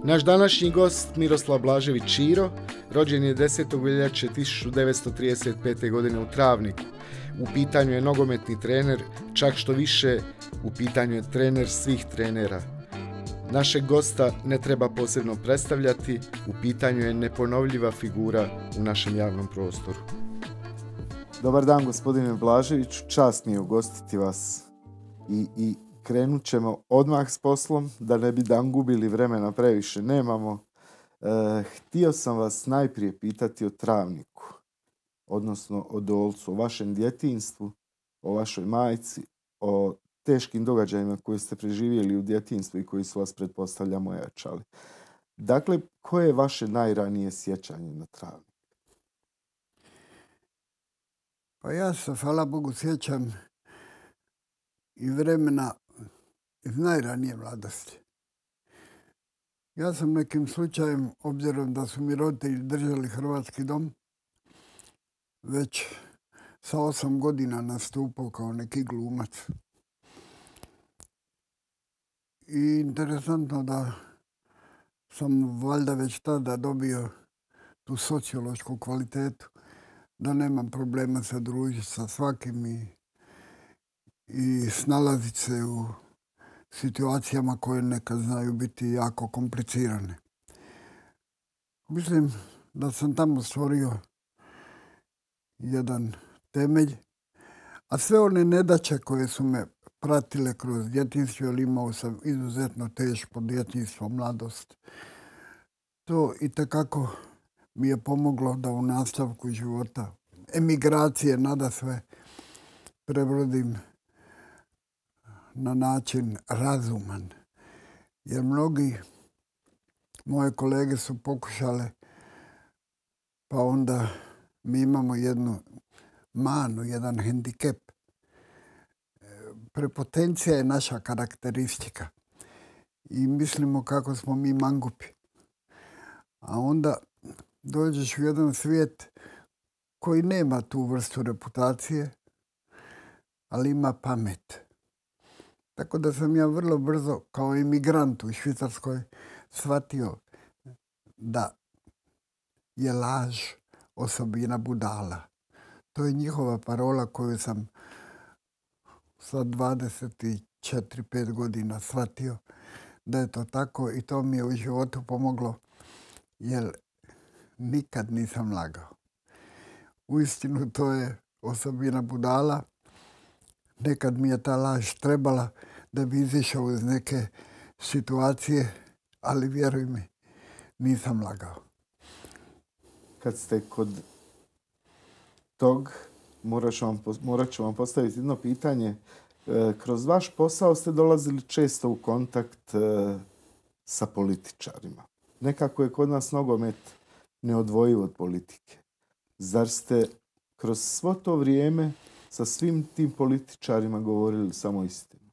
Naš današnji gost Miroslav Blažević Ćiro rođen je 10. veljače 1935. godine u Travniku. U pitanju je nogometni trener, čak što više u pitanju je trener svih trenera. Našeg gosta ne treba posebno predstavljati, u pitanju je neponovljiva figura u našem javnom prostoru. Dobar dan, gospodine Blaževiću, čast mi je ugostiti vas i krenut ćemo odmah s poslom, da ne bi dan gubili vremena previše nemamo. Htio sam vas najprije pitati o Travniku, odnosno o Dolcu, o vašem djetinjstvu, o vašoj majci, o teškim događajima koje ste preživjeli u djetinjstvu i koji su vas, pretpostavljam, ojačali. Dakle, koje je vaše najranije sjećanje na Travnik? Pa ja se, hvala Bogu, sjećam i vremena iz najranije mladosti. Ja sam nekim slučajem, obzirom da su mi roditelji držali Hrvatski dom, već sa 8 godina nastupao kao neki glumac. I interesantno da sam valjda već tada dobio tu sociološku kvalitetu, da nemam problema se družiti sa svakim i snalaziti se u situacijama koje nekad znaju biti jako komplicirane. Mislim da sam tamo stvorio jedan temelj, a sve one nedaće koje su me pratile kroz djetinjstvo, jer imao sam izuzetno teško djetinjstvo, mladost, to itekako mi je pomoglo da u nastavku života, emigracije nadasve, prebrodim na način razuman. Jer mnogi moje kolege su pokušale, pa onda mi imamo jednu manu, jedan hendikep. Prepotencija je naša karakteristika i mislimo kako smo mi mangupi. A onda dođeš u jedan svijet koji nema tu vrstu reputacije, ali ima pamet. Tako da sam ja vrlo brzo kao imigrant u Švicarskoj shvatio da je laž osobina budala. To je njihova parola koju sam sa 24-5 godina shvatio da je to tako i to mi je u životu pomoglo, jer nikad nisam lagao. Uistinu to je osobina budala. Nekad mi je ta laž trebala da bi izišao iz neke situacije, ali vjeruj mi, nisam lagao. Kad ste kod tog, morat ću vam postaviti jedno pitanje. Kroz vaš posao ste dolazili često u kontakt sa političarima. Nekako je kod nas nogomet neodvojiv od politike. Zar ste kroz svo to vrijeme sa svim tim političarima govorili samo istinu?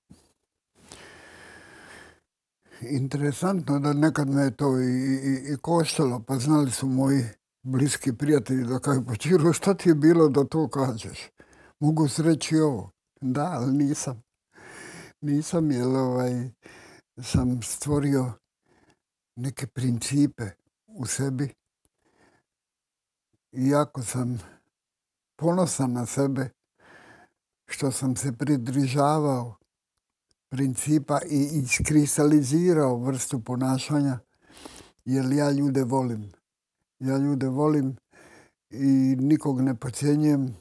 Interesantno da nekad me je to i koštalo, pa znali su moji bliski prijatelji da kažu, pa Ćiro, šta ti je bilo da to kažeš? Mogu sreći ovo. Da, ali nisam. Nisam, jer sam stvorio neke principe u sebi. Iako sam ponosan na sebe, što sam se pridržavao principa i iskristalizirao vrstu ponašanja, jer ja ljude volim. Ja ljude volim i nikog ne podcjenjujem.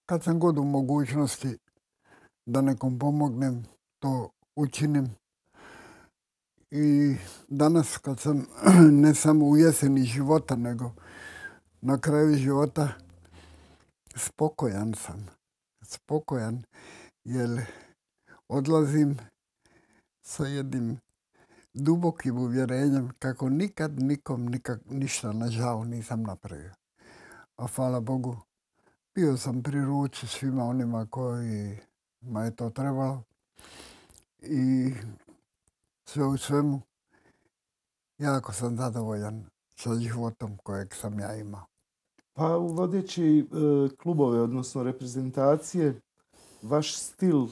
Kad sam god u mogućnosti da nekom pomognem, to učinim. I danas kad sam ne samo u jeseni života, nego na kraju života, spokojan sam. Spokojan, jer odlazim sa jednim dubokim uvjerenjem kako nikad nikom ništa na žao nisam napravio. A hvala Bogu, bio sam pri ruci svima onima kojima je to trebalo i sve u svemu jako sam zadovoljan sa životom kojeg sam ja imao. Pa uvodeći klubove, odnosno reprezentacije, vaš stil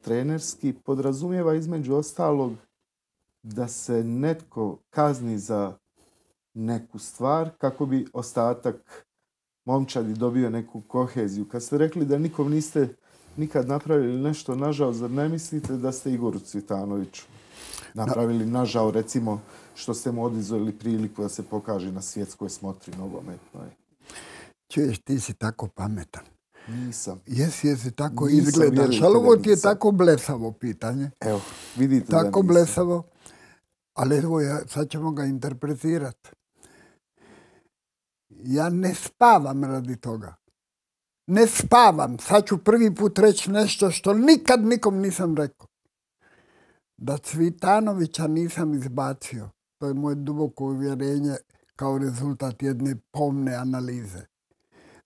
trenerski podrazumijeva između ostalog da se netko kazni za neku stvar kako bi ostatak momčadi dobio neku koheziju. Kad ste rekli da nikom niste nikad napravili nešto nažao, zar ne mislite da ste Igoru Cvitanoviću napravili nažao, recimo, što ste mu oduzeli priliku da se pokaže na svjetskoj smotri nogometnoj? Čuješ, ti si tako pametan. Nisam. Jesi tako izgledaš, ali ovo ti je tako blesavo pitanje. Evo, vidite tako da nisam. Blesavo, ali evo, sad ćemo ga interpretirati. Ja ne spavam radi toga. Ne spavam. Sad ću prvi put reći nešto što nikad nikom nisam rekao. Da Cvitanovića nisam izbacio. To je moje duboko uvjerenje kao rezultat jedne pomne analize.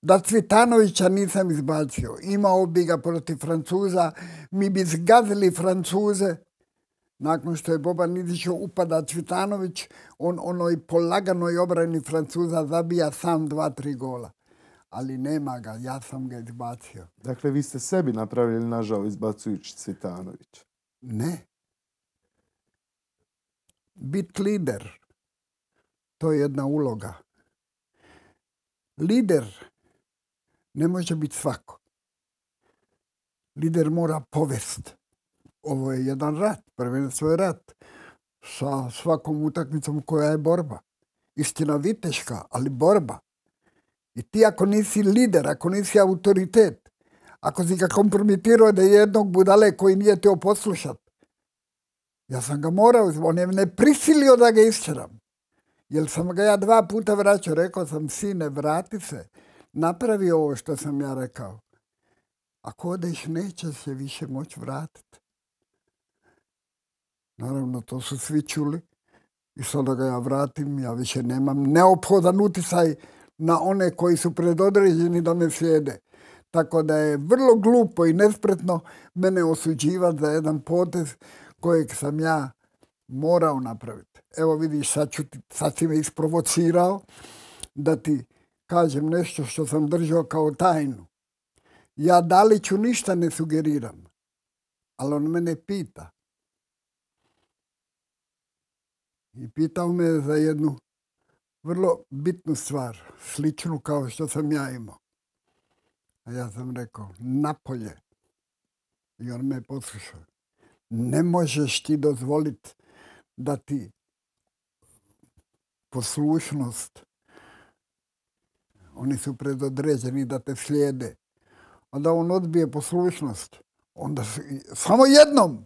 Da Cvitanovića nisam izbacio. Imao bi ga protiv Francuza. Mi bi zgazili Francuze. Nakon što je Boban izišao, upada Cvitanović, on onoj polaganoj obrani Francuza zabija sam 2-3 gola. Ali nema ga, ja sam ga izbacio. Dakle, vi ste sebi napravili nažao izbacujući Cvitanovića. Ne. Bit lider, to je jedna uloga. Lider ne može biti svako. Lider mora povest. Ovo je jedan rat, prvenstvo je rat. Sa svakom utakmicom koja je borba. Istina viteška, ali borba. I ti ako nisi lider, ako nisi autoritet, ako si ga kompromitirao da je jednog budale koji nije teo poslušat, ja sam ga morao, on je ne prisilio da ga isčeram. Jer sam ga ja 2 puta vraćao, rekao sam, sine, vrati se, napravi ovo što sam ja rekao. Ako odeš, neće se više moći vratiti. Naravno, to su svi čuli. I sada ga ja vratim, ja više nemam neophodan uticaj na one koji su predodređeni da me slijede. Tako da je vrlo glupo i nespretno mene osuđivati za jedan potez kojeg sam ja morao napraviti. Evo vidiš, sad si me isprovocirao da ti kažem nešto što sam držao kao tajnu. Ja Daliću ništa ne sugeriram, ali on mene pita. I pitao me za jednu vrlo bitnu stvar, sličnu kao što sam ja imao. A ja sam rekao, napolje. I on me poslušao. Ne možeš ti dozvoliti da ti poslušnost, oni su predodređeni da te slijede, a da on odbije poslušnost, onda samo jednom,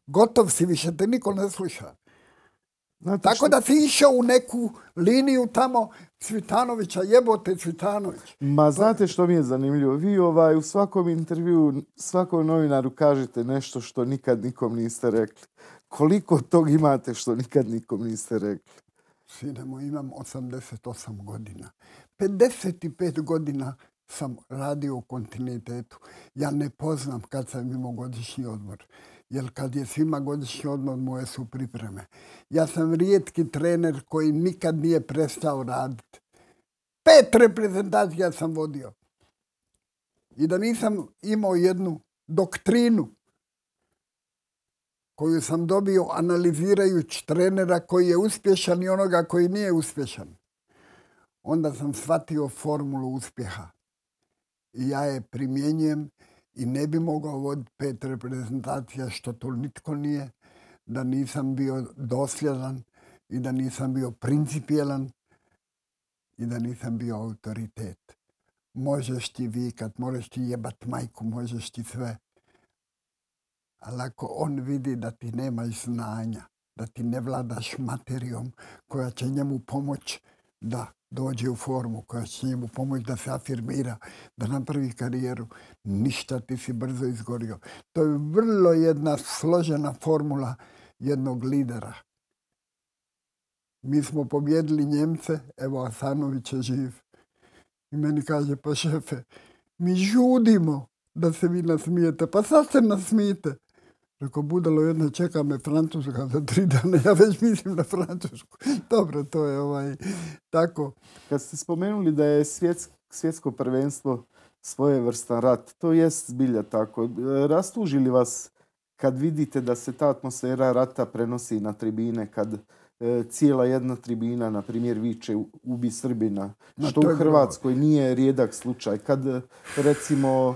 gotov si, više te niko ne sluša. Znate tako da si išao u neku liniju tamo Cvitanovića, jebote Cvitanović. Ma znate što mi je zanimljivo? Vi u svakom intervju, svakom novinaru kažete nešto što nikad nikom niste rekli. Koliko tog imate što nikad nikom niste rekli? Sine moj, imam 88 godina. 55 godina sam radio u kontinuitetu. Ja ne poznam kad sam imao godišnji odmor. Jer kad je svima godišnji odmor, moje su pripreme. Ja sam rijetki trener koji nikad nije prestao raditi. 5 reprezentacija sam vodio. I da nisam imao jednu doktrinu koju sam dobio analizirajući trenera koji je uspješan i onoga koji nije uspješan, onda sam shvatio formulu uspjeha. I ja je primjenjujem i ne bi mogao voditi 5 reprezentacija, što to nitko nije, da nisam bio dosljedan i da nisam bio principijelan i da nisam bio autoritet. Možeš ti vikat, možeš ti jebat majku, možeš ti sve. Ali ako on vidi da ti nemaš znanja, da ti ne vladaš materijom koja će njemu pomoći da dođe u formu, koja će njemu pomoći da se afirmira, da napravi karijeru, ništa, ti si brzo izgorio. To je vrlo jedna složena formula jednog lidera. Mi smo pobjedili Njemce, evo Asanović je živ. I meni kaže, pa šefe, mi žudimo da se vi nasmijete, pa sad se nasmijete. Rekao, budalo jedno, čeka me Francuska za 3 dana, ja već mislim na Francusku. Dobro, to je tako. Kad ste spomenuli da je svjetsko prvenstvo svojevrstan rat, to jest zbilja tako. Rastuži li vas kad vidite da se ta atmosfera rata prenosi na tribine, kad cijela jedna tribina, na primjer, viče ubi Srbina, što u Hrvatskoj nije rijedak slučaj. Kad, recimo,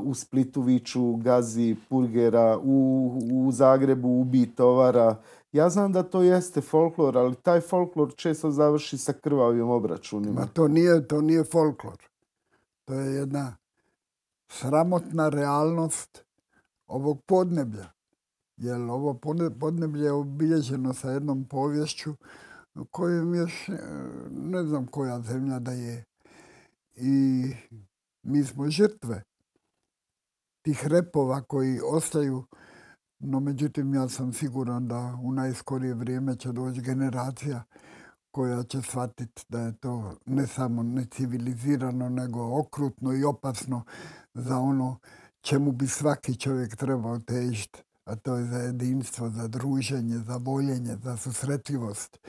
u Splitu viču gazi Purgera, u Zagrebu ubi Tovara. Ja znam da to jeste folklor, ali taj folklor često završi sa krvavim obračunima. Ma to nije folklor. To je jedna sramotna realnost ovog podneblja. Jer ovo podneblje je obilježeno sa jednom poviješću koju još ne znam koja zemlja da je. I mi smo žrtve tih repova koji ostaju, no međutim ja sam siguran da u najskorije vrijeme će doći generacija koja će shvatiti da je to ne samo necivilizirano, nego okrutno i opasno za ono čemu bi svaki čovjek trebao težiti. A to je za jedinstvo, za druženje, za voljenje, za susretljivost.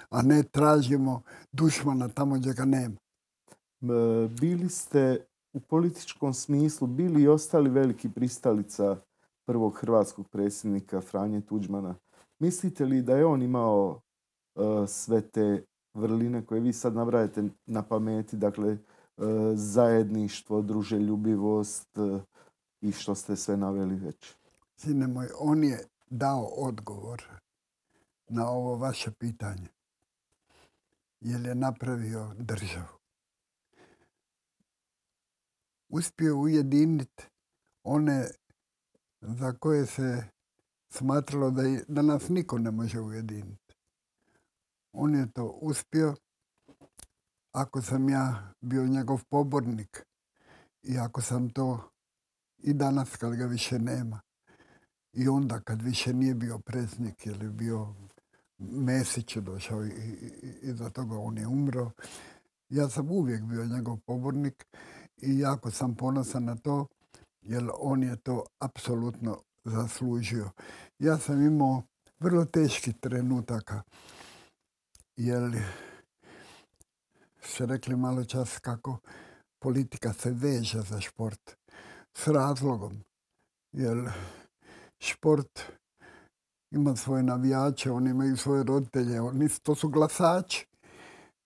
A ne tražimo dušmana tamo gdje ga nema. Bili ste u političkom smislu, bili i ostali veliki pristalica prvog hrvatskog predsjednika Franje Tuđmana. Mislite li da je on imao sve te vrline koje vi sad nabrajate na pameti, dakle zajedništvo, druželjubivost i što ste sve naveli već? Sine moj, on je dao odgovor na ovo vaše pitanje. Jer je napravio državu. Uspio ujediniti one za koje se smatralo da nas niko ne može ujediniti. On je to uspio. Ako sam ja bio njegov pobornik i ako sam to i danas kad ga više nema, i onda kad više nije bio predsjednik ili bio Mesić je došao i za toga on je umro. Ja sam uvijek bio njegov pobornik i jako sam ponosan na to jer on je to apsolutno zaslužio. Ja sam imao vrlo teških trenutaka jer ste rekli malo čas kako politika se veže za šport s razlogom jer šport ima svoje navijače, oni imaju svoje roditelje, to su glasači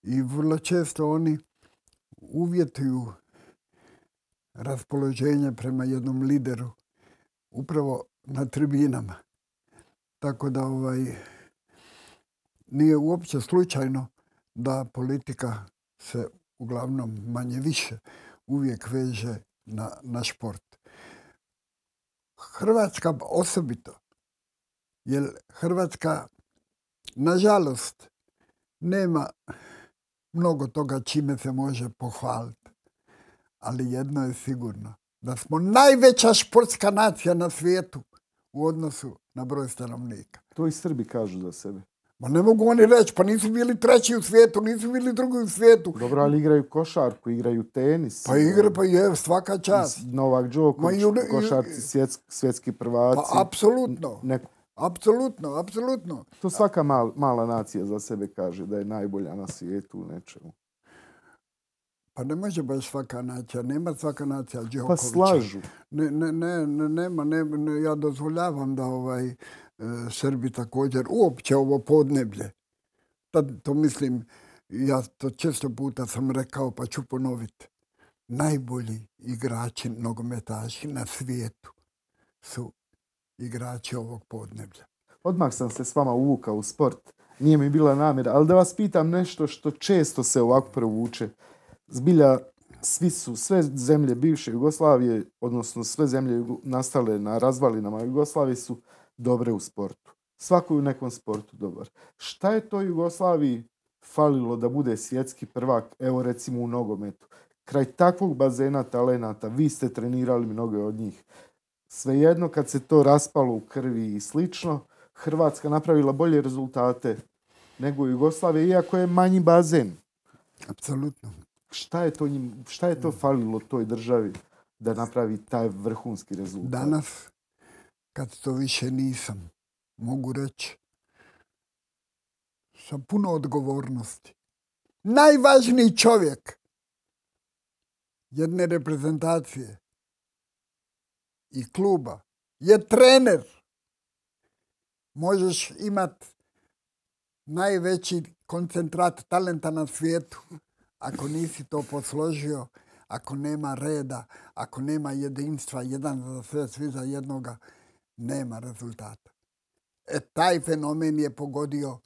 i vrlo često oni uvjetuju raspoloženje prema jednom lideru upravo na tribinama. Tako da nije uopće slučajno da politika se uglavnom manje više uvijek veže na šport. Hrvatska osobito, jer Hrvatska, nažalost, nema mnogo toga čime se može pohvaliti. Ali jedno je sigurno, da smo najveća športska nacija na svijetu u odnosu na broj stanovnika. To i Srbi kažu za sebe. Ma ne mogu oni reći, pa nisu bili treći u svijetu, nisu bili drugi u svijetu. Dobro, ali igraju košarku, igraju tenis. Pa je, svaka čast. Novak Đoković, košarci, svjetski prvaci. Pa apsolutno. To svaka mala nacija za sebe kaže da je najbolja na svijetu u nečemu. Pa ne može baš svaka nacija, nema svaka nacija Đokovića. Pa slažu. Nema, ja dozvoljavam da Srbi također, uopće ovo podneblje. To mislim, ja to često puta sam rekao, pa ću ponoviti. Najbolji igrači nogometaši na svijetu su igrači ovog podneblja. Odmah sam se s vama uvukao u sport. Nije mi bila namjera, ali da vas pitam nešto što često se ovako provuče. Zbilja, sve zemlje bivše Jugoslavije, odnosno sve zemlje nastale na razvalinama Jugoslavije su dobre u sportu. Svako u nekom sportu dobar. Šta je to Jugoslaviji falilo da bude svjetski prvak, evo recimo u nogometu? Kraj takvog bazena talenata, vi ste trenirali mnoge od njih. Svejedno kad se to raspalo u krvi i slično, Hrvatska napravila bolje rezultate nego Jugoslavija, iako je manji bazen. Apsolutno. Šta je to falilo toj državi da napravi taj vrhunski rezultat? Danas, kad to više nisam, mogu reći sa puno odgovornosti. Najvažniji čovjek jedne reprezentacije i kluba je trener. Možeš imati najveći koncentrat talenta na svijetu. Ako nisi to posložio, ako nema reda, ako nema jedinstva, jedan za sve, svi za jednoga, nema rezultata. Taj fenomen je pogodio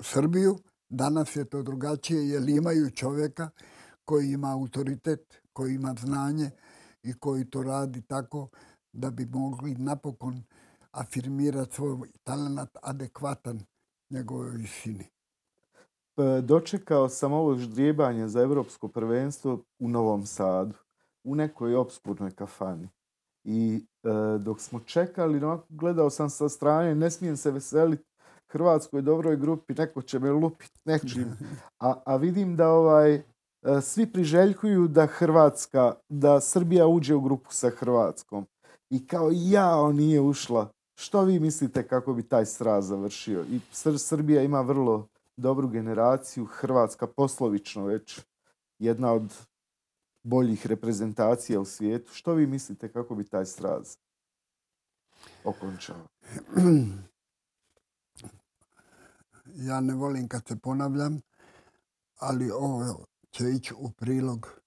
Srbiju. Danas je to drugačije jer imaju čovjeka koji ima autoritet, koji ima znanje i koji to radi tako da bi mogli napokon afirmirati svoj talent adekvatan njegovoj visini. Dočekao sam ovo ždrijebanje za Europsko prvenstvo u Novom Sadu, u nekoj opskurnoj kafani. I dok smo čekali, gledao sam sa strane, ne smijem se veseliti Hrvatskoj dobroj grupi, neko će me lupiti nečim. A vidim da svi priželjkuju da Srbija uđe u grupu sa Hrvatskom. I kao nije ušla. Što vi mislite kako bi taj sraz završio? I Srbija ima vrlo dobru generaciju, Hrvatska poslovično već jedna od boljih reprezentacija u svijetu. Što vi mislite kako bi taj sraz okončao? Ja ne volim kad se ponavljam, ali ovo će ići u prilog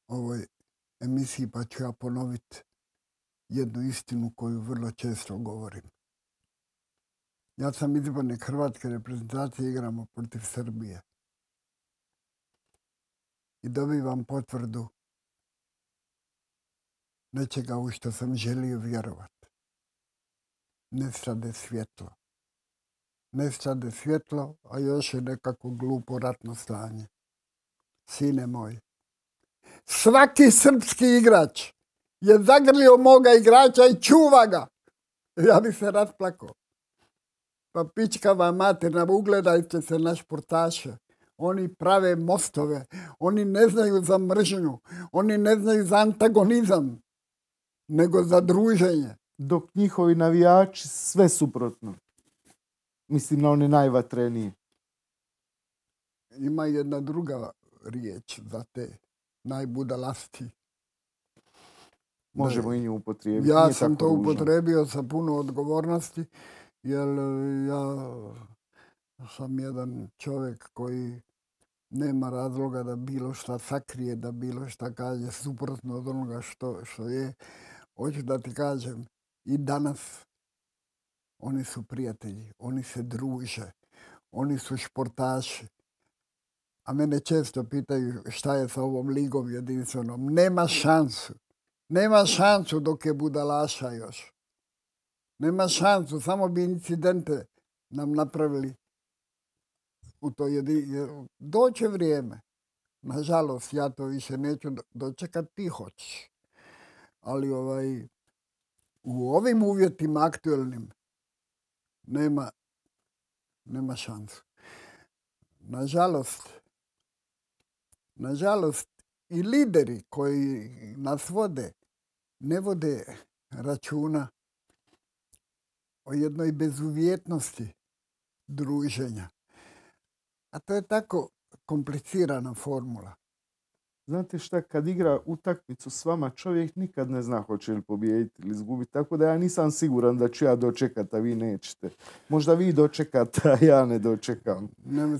ovoj emisiji, pa ću ja ponoviti jednu istinu koju vrlo često govorim. Ja sam izbornik hrvatske reprezentacije, igramo protiv Srbije. I dobivam potvrdu nečega u što sam želio vjerovati. Nestade svjetlo. Nestade svjetlo, a još je nekako glupo ratno stanje. Sine moj, svaki srpski igrač je zagrlio moga igrača i čuva ga. Ja bi se rasplakao. Pa pičkava materna, ugledajte se na športaše. Oni prave mostove, oni ne znaju za mržnju, oni ne znaju za antagonizam, nego za druženje. Dok njihovi navijači sve suprotno. Mislim na one najvatrenije. Ima jedna druga riječ za te najbudalasti. Možemo i nju upotrijebiti. Ja sam to upotrijebio sa puno odgovornosti, jer ja sam jedan čovjek koji nema razloga da bilo šta sakrije, da bilo šta kaže suprotno od onoga što je. Hoću da ti kažem, i danas oni su prijatelji, oni se druže, oni su športaši. A mene često pitaju šta je sa ovom ligom jedinstvenom. Nema šansu. Nema šansu dok je budalaša još. Nema šansu, samo bi incidente nam napravili u to doće vrijeme. Nažalost, ja to više neću dočekati, ti hoćeš. Ali u ovim uvjetima aktualnim nema šansu. Nažalost, i lideri koji nas vode ne vode računa o jednoj bezuvjetnosti druženja. A to je tako komplicirana formula. Znate šta, kad igra utakmicu s vama, čovjek nikad ne zna hoće li pobijediti ili izgubiti. Tako da ja nisam siguran da ću ja dočekati, a vi nećete. Možda vi dočekate, a ja ne dočekam.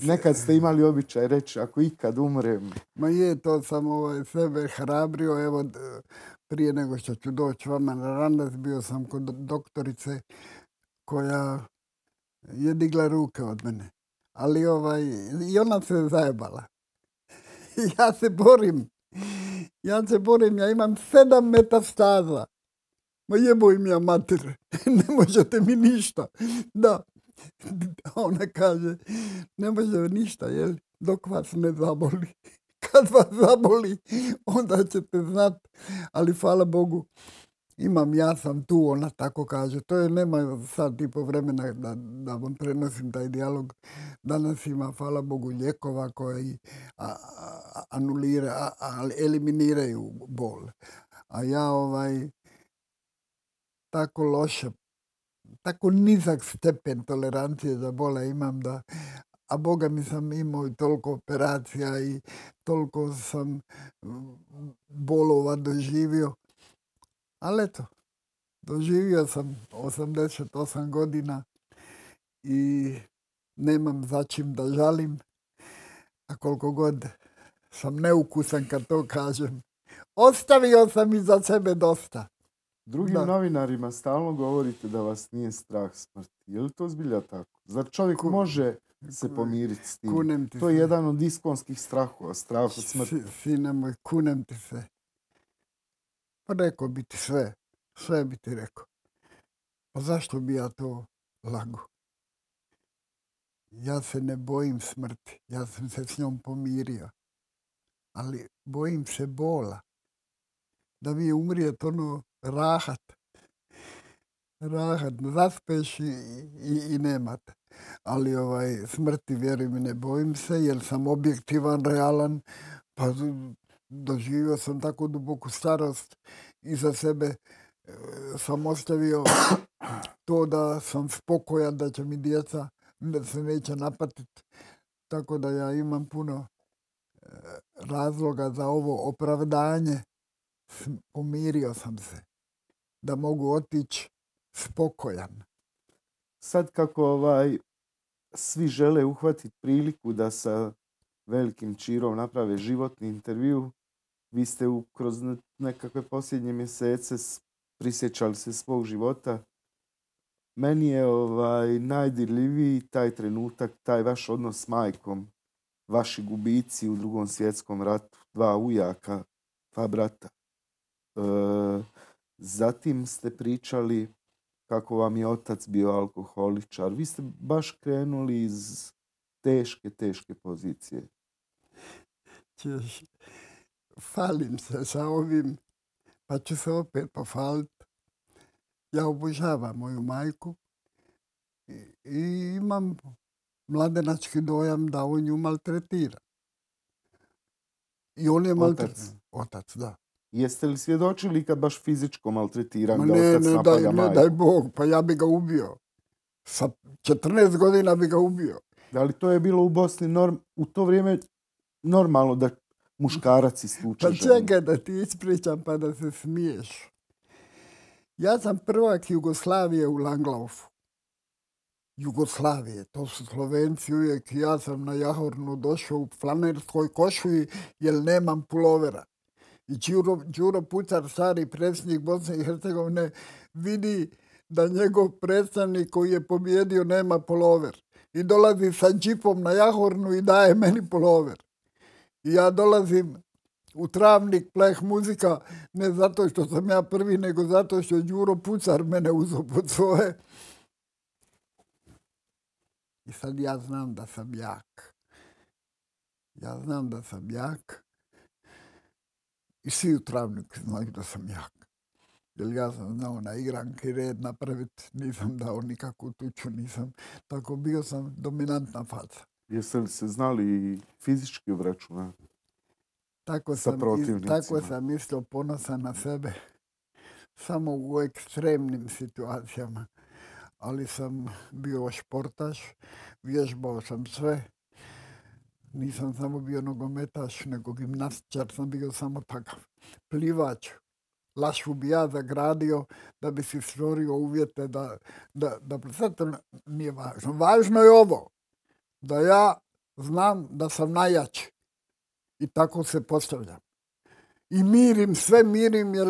Nekad ste imali običaj reći, ako ikad umrem. Ma je, to sam sebe hrabrio. Evo, prije nego što ću doći vama na randas, bio sam kod doktorice koja je digla ruke od mene. Ali i ona se zajebala. Ja se borim, ja imam 7 metastaza. Ma jeboj mi ja mater, ne možete mi ništa. Da, ona kaže, ne može ništa, jel, dok vas ne zaboli. Kad vas zaboli, onda ćete znati, ali hvala Bogu, ja sam tu, ona tako kaže. To je, nema sad tipo vremena da vam prenosim taj dijalog. Danas ima, hvala Bogu, lijekova koji eliminiraju bol. A ja tako loše, tako nizak stepen tolerancije za bole imam da, a Boga mi sam imao i toliko operacija i toliko sam bolova doživio. Ali eto, doživio sam 88 godina i nemam za čim da žalim, a koliko god sam neukusan kad to kažem, ostavio sam iza sebe dosta. Drugim novinarima stalno govorite da vas nije strah smrti. Je li to zbilja tako? Zar čovjek može se pomiriti s tim? To je jedan od iskonskih strahova, strah od smrti. Sine moj, kunem ti se. Pa rekao bi ti sve bi ti rekao. Pa zašto bi ja to lago? Ja se ne bojim smrti, ja sam se s njom pomirio. Ali bojim se bola. Da mi je umrijet rahat, zaspeš i nemate. Ali smrti, vjeruj mi, ne bojim se jer sam objektivan, realan, pa doživio sam tako duboku starost iza sebe. Sam ostavio to da sam spokojan, da će mi djeca da se neće napatiti. Tako da ja imam puno razloga za ovo opravdanje. Pomirio sam se da mogu otići spokojan. Sad kako svi žele uhvatiti priliku da sa velikim Čirom naprave životni intervju, vi ste kroz nekakve posljednje mjesece prisjećali se svog života. Meni je najdirljiviji taj trenutak, taj vaš odnos s majkom, vaši gubici u Drugom svjetskom ratu, 2 ujaka, 2 brata. Zatim ste pričali kako vam je otac bio alkoholičar. Vi ste baš krenuli iz teške pozicije. Falim se sa ovim, pa ću se opet pofaliti. Ja obožavam moju majku i imam mladenački dojam da on nju maltretira. I on je maltretiran. Otac, da. Jeste li svjedočili kad baš fizičko maltretiran da otac napada majku? Ne, daj Bog, pa ja bi ga ubio. Sa 14 godina bi ga ubio. Da li to je bilo u Bosni u to vrijeme normalno da muškarac istuče ženu? Pa čekaj da ti ispričam pa da se smiješ. Ja sam prvak Jugoslavije u Langlaufu. Jugoslavije, to su Slovenci uvijek. Ja sam na Jahornu došao u flanerskoj košulji jer nemam pulovera. I Đuro Pucar, stari predsjednik Bosne i Hercegovine, vidi da njegov predstavnik koji je pobjedio nema pulover. I dolazi sa džipom na Jahornu i daje meni pulover. I ja dolazim u Travnik, pleh muzika, ne zato što sam ja prvi, nego zato što Đuro Pucar mene uzeo pod svoje. I sad ja znam da sam jak. Ja znam da sam jak. I svi u Travniku znaju da sam jak. Jer ja sam znao na igranki red napraviti, nisam dao nikakvu tuču, nisam. Tako bio sam dominantna faca. Jeste li se znali fizički obračunati sa protivnicima? Tako sam isto ponosan na sebe. Samo u ekstremnim situacijama. Ali sam bio športaš, vježbao sam sve. Nisam samo bio nogometaš, nego gimnastičar sam bio samo takav. Plivač. Lašu bi ja zagradio da bi si stvorio uvjete da sad to nije važno. Važno je ovo, da ja znam da sam najjači. I tako se postavljam. I sve mirim jer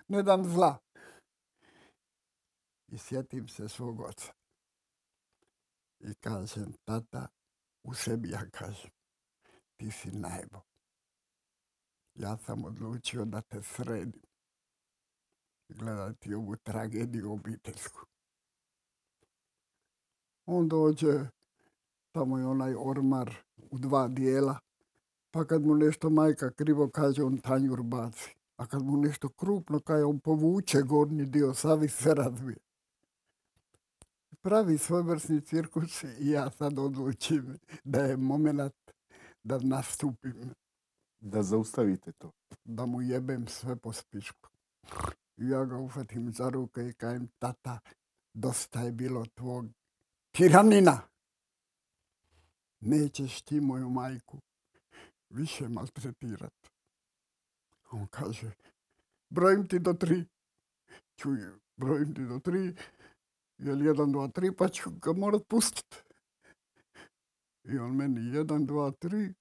ne dam zla. I sjetim se svog oca. I kažem, tata, u sebi ja kažem, ti si najbo. Ja sam odlučio da te sredim. Gledati ovu tragediju obiteljsku. On dođe, tamo je onaj ormar u 2 dijela, pa kad mu nešto majka krivo kaže, on tanjur baci. A kad mu nešto krupno kaže, on povuče gornji dio, savi sve razvije. Pravi svojevrsni cirkus i ja sad odlučim da je moment da nastupim. Da zaustavite to. Da mu jebem sve po spišku. I ja ga uhvatim za ruke i kažem, tata, dosta je bilo tvog tiranina. Nećeš ti moju majku više maltretirati. On kaže, brojim ti do 3. čuj, brojim ti do 3, jel 1, 2, 3, pa ću ga morat pustiti. I on meni 1, 2, 3,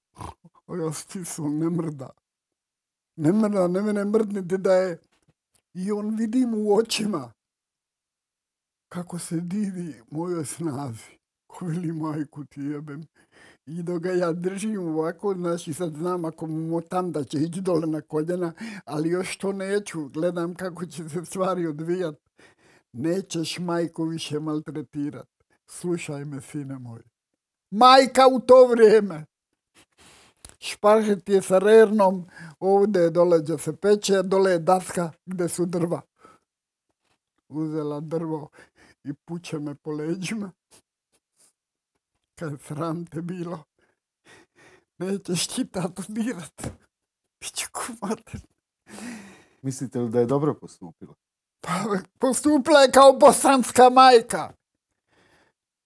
a ja stisao, ne mrda. Ne mrda, ne mene mrdniti da je. I on vidim u očima kako se divi mojoj snazi. Ko veli, majku ti jebem. I dok ga ja držim ovako, znači sad znam ako mu motam da će ići dole na koljena, ali još to neću. Gledam kako će se stvari odvijat. Nećeš majku više maltretirat. Slušaj me, sine moj. Majka u to vrijeme. Špahet je sa rernom, ovdje je dole gdje se peče, dole je daska gdje su drva. Uzela drvo i puče me po leđima. Kad sram te bilo, nećeš ti tato dirat. Biću kumater. Mislite li da je dobro postupila? Pa postupila je kao bosanska majka.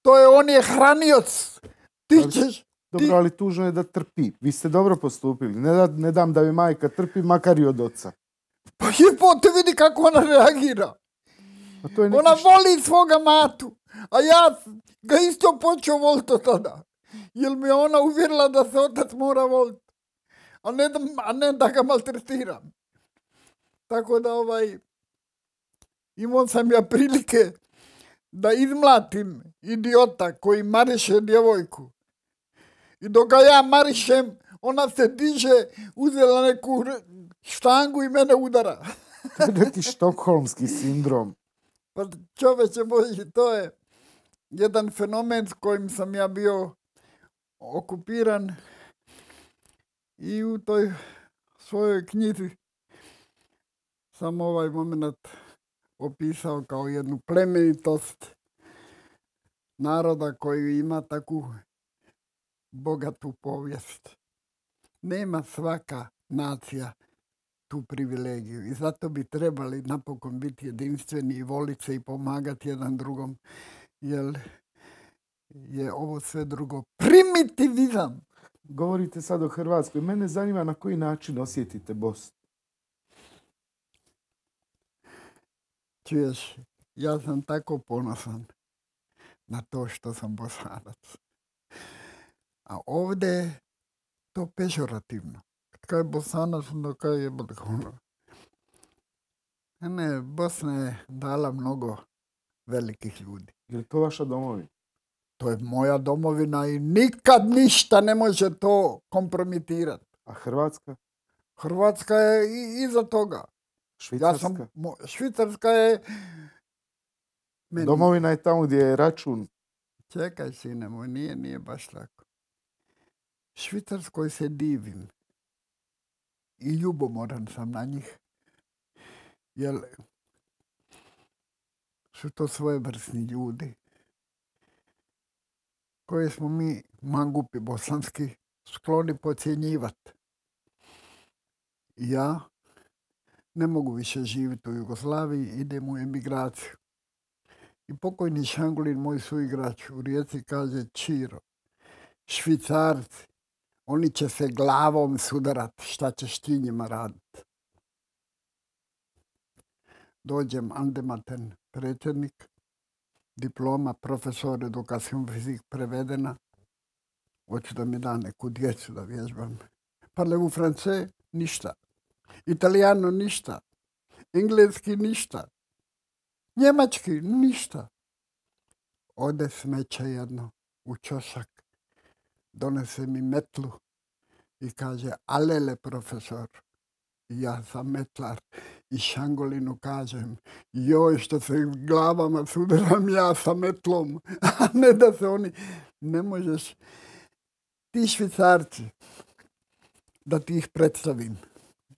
To je, on je hranioc. Ti ćeš... Dobro, ali tužno je da trpi. Vi ste dobro postupili. Ne dam da mi majka trpi, makar i od oca. Pa jebote, vidi kako ona reagira. Ona voli svoga matu. A ja ga isto počeo voliti od tada. Jer mi je ona uvjerila da se otac mora voliti. A ne da ga maltretiram. Tako da imao sam ja prilike da izmlatim idiota koji mariše djevojku. I dok ga ja marišem, ona se diže, uzela neku štangu i mene udara. To je neki štokholmski sindrom. Pa čoveče Boži, to je jedan fenomen s kojim sam ja bio okupiran i u toj svojoj knjizi sam ovaj moment opisao kao jednu plemenitost naroda koji ima takvu bogatu povijest. Nema svaka nacija tu privilegiju i zato bi trebali napokon biti jedinstveni i voliti se i pomagati jedan drugom, jer je ovo sve drugo primitivizam. Govorite sad o Hrvatskoj. Mene zanima na koji način osjetite Bosnu. Čuješ, ja sam tako ponosan na to što sam Bosanac. A ovdje je to pežorativno. Kad je Bosanac, onda kaj je ono. Ne, Bosna je dala mnogo velikih ljudi. Je li to vaša domovina? To je moja domovina i nikad ništa ne može to kompromitirati. A Hrvatska? Hrvatska je iza toga. Švicarska? Švicarska je... Domovina je tamo gdje je račun. Čekaj, sine moj, nije baš tako. Švicarskoj se divim. I ljubomoran sam na njih. Jer su to svojevrsni ljudi koje smo mi, mangupi bosanski, skloni podcjenjivati. Ja ne mogu više živjeti u Jugoslaviji, idem u emigraciju. I pokojni Šangulin, moj suigrač u Rijeci, kaže: Čiro, Švicarci, oni će se glavom sudarati, šta ćeš ti njima raditi. Dođem Andematen, predsjednik, diploma, profesor, edukacijom fizik prevedena. Hoću da mi da neku djecu da vježbam. Parlez-vous français? Ništa. Italijano? Ništa. Engleski? Ništa. Njemački? Ništa. Ode smeće jedno u čošak, donese mi metlu i kaže: alele, profesor. Ja sam metlar i Šangolinu kažem: joj, što se glavama sudaram ja sa metlom, a ne da se oni... Ne možeš. Ti Švicarci, da ti ih predstavim.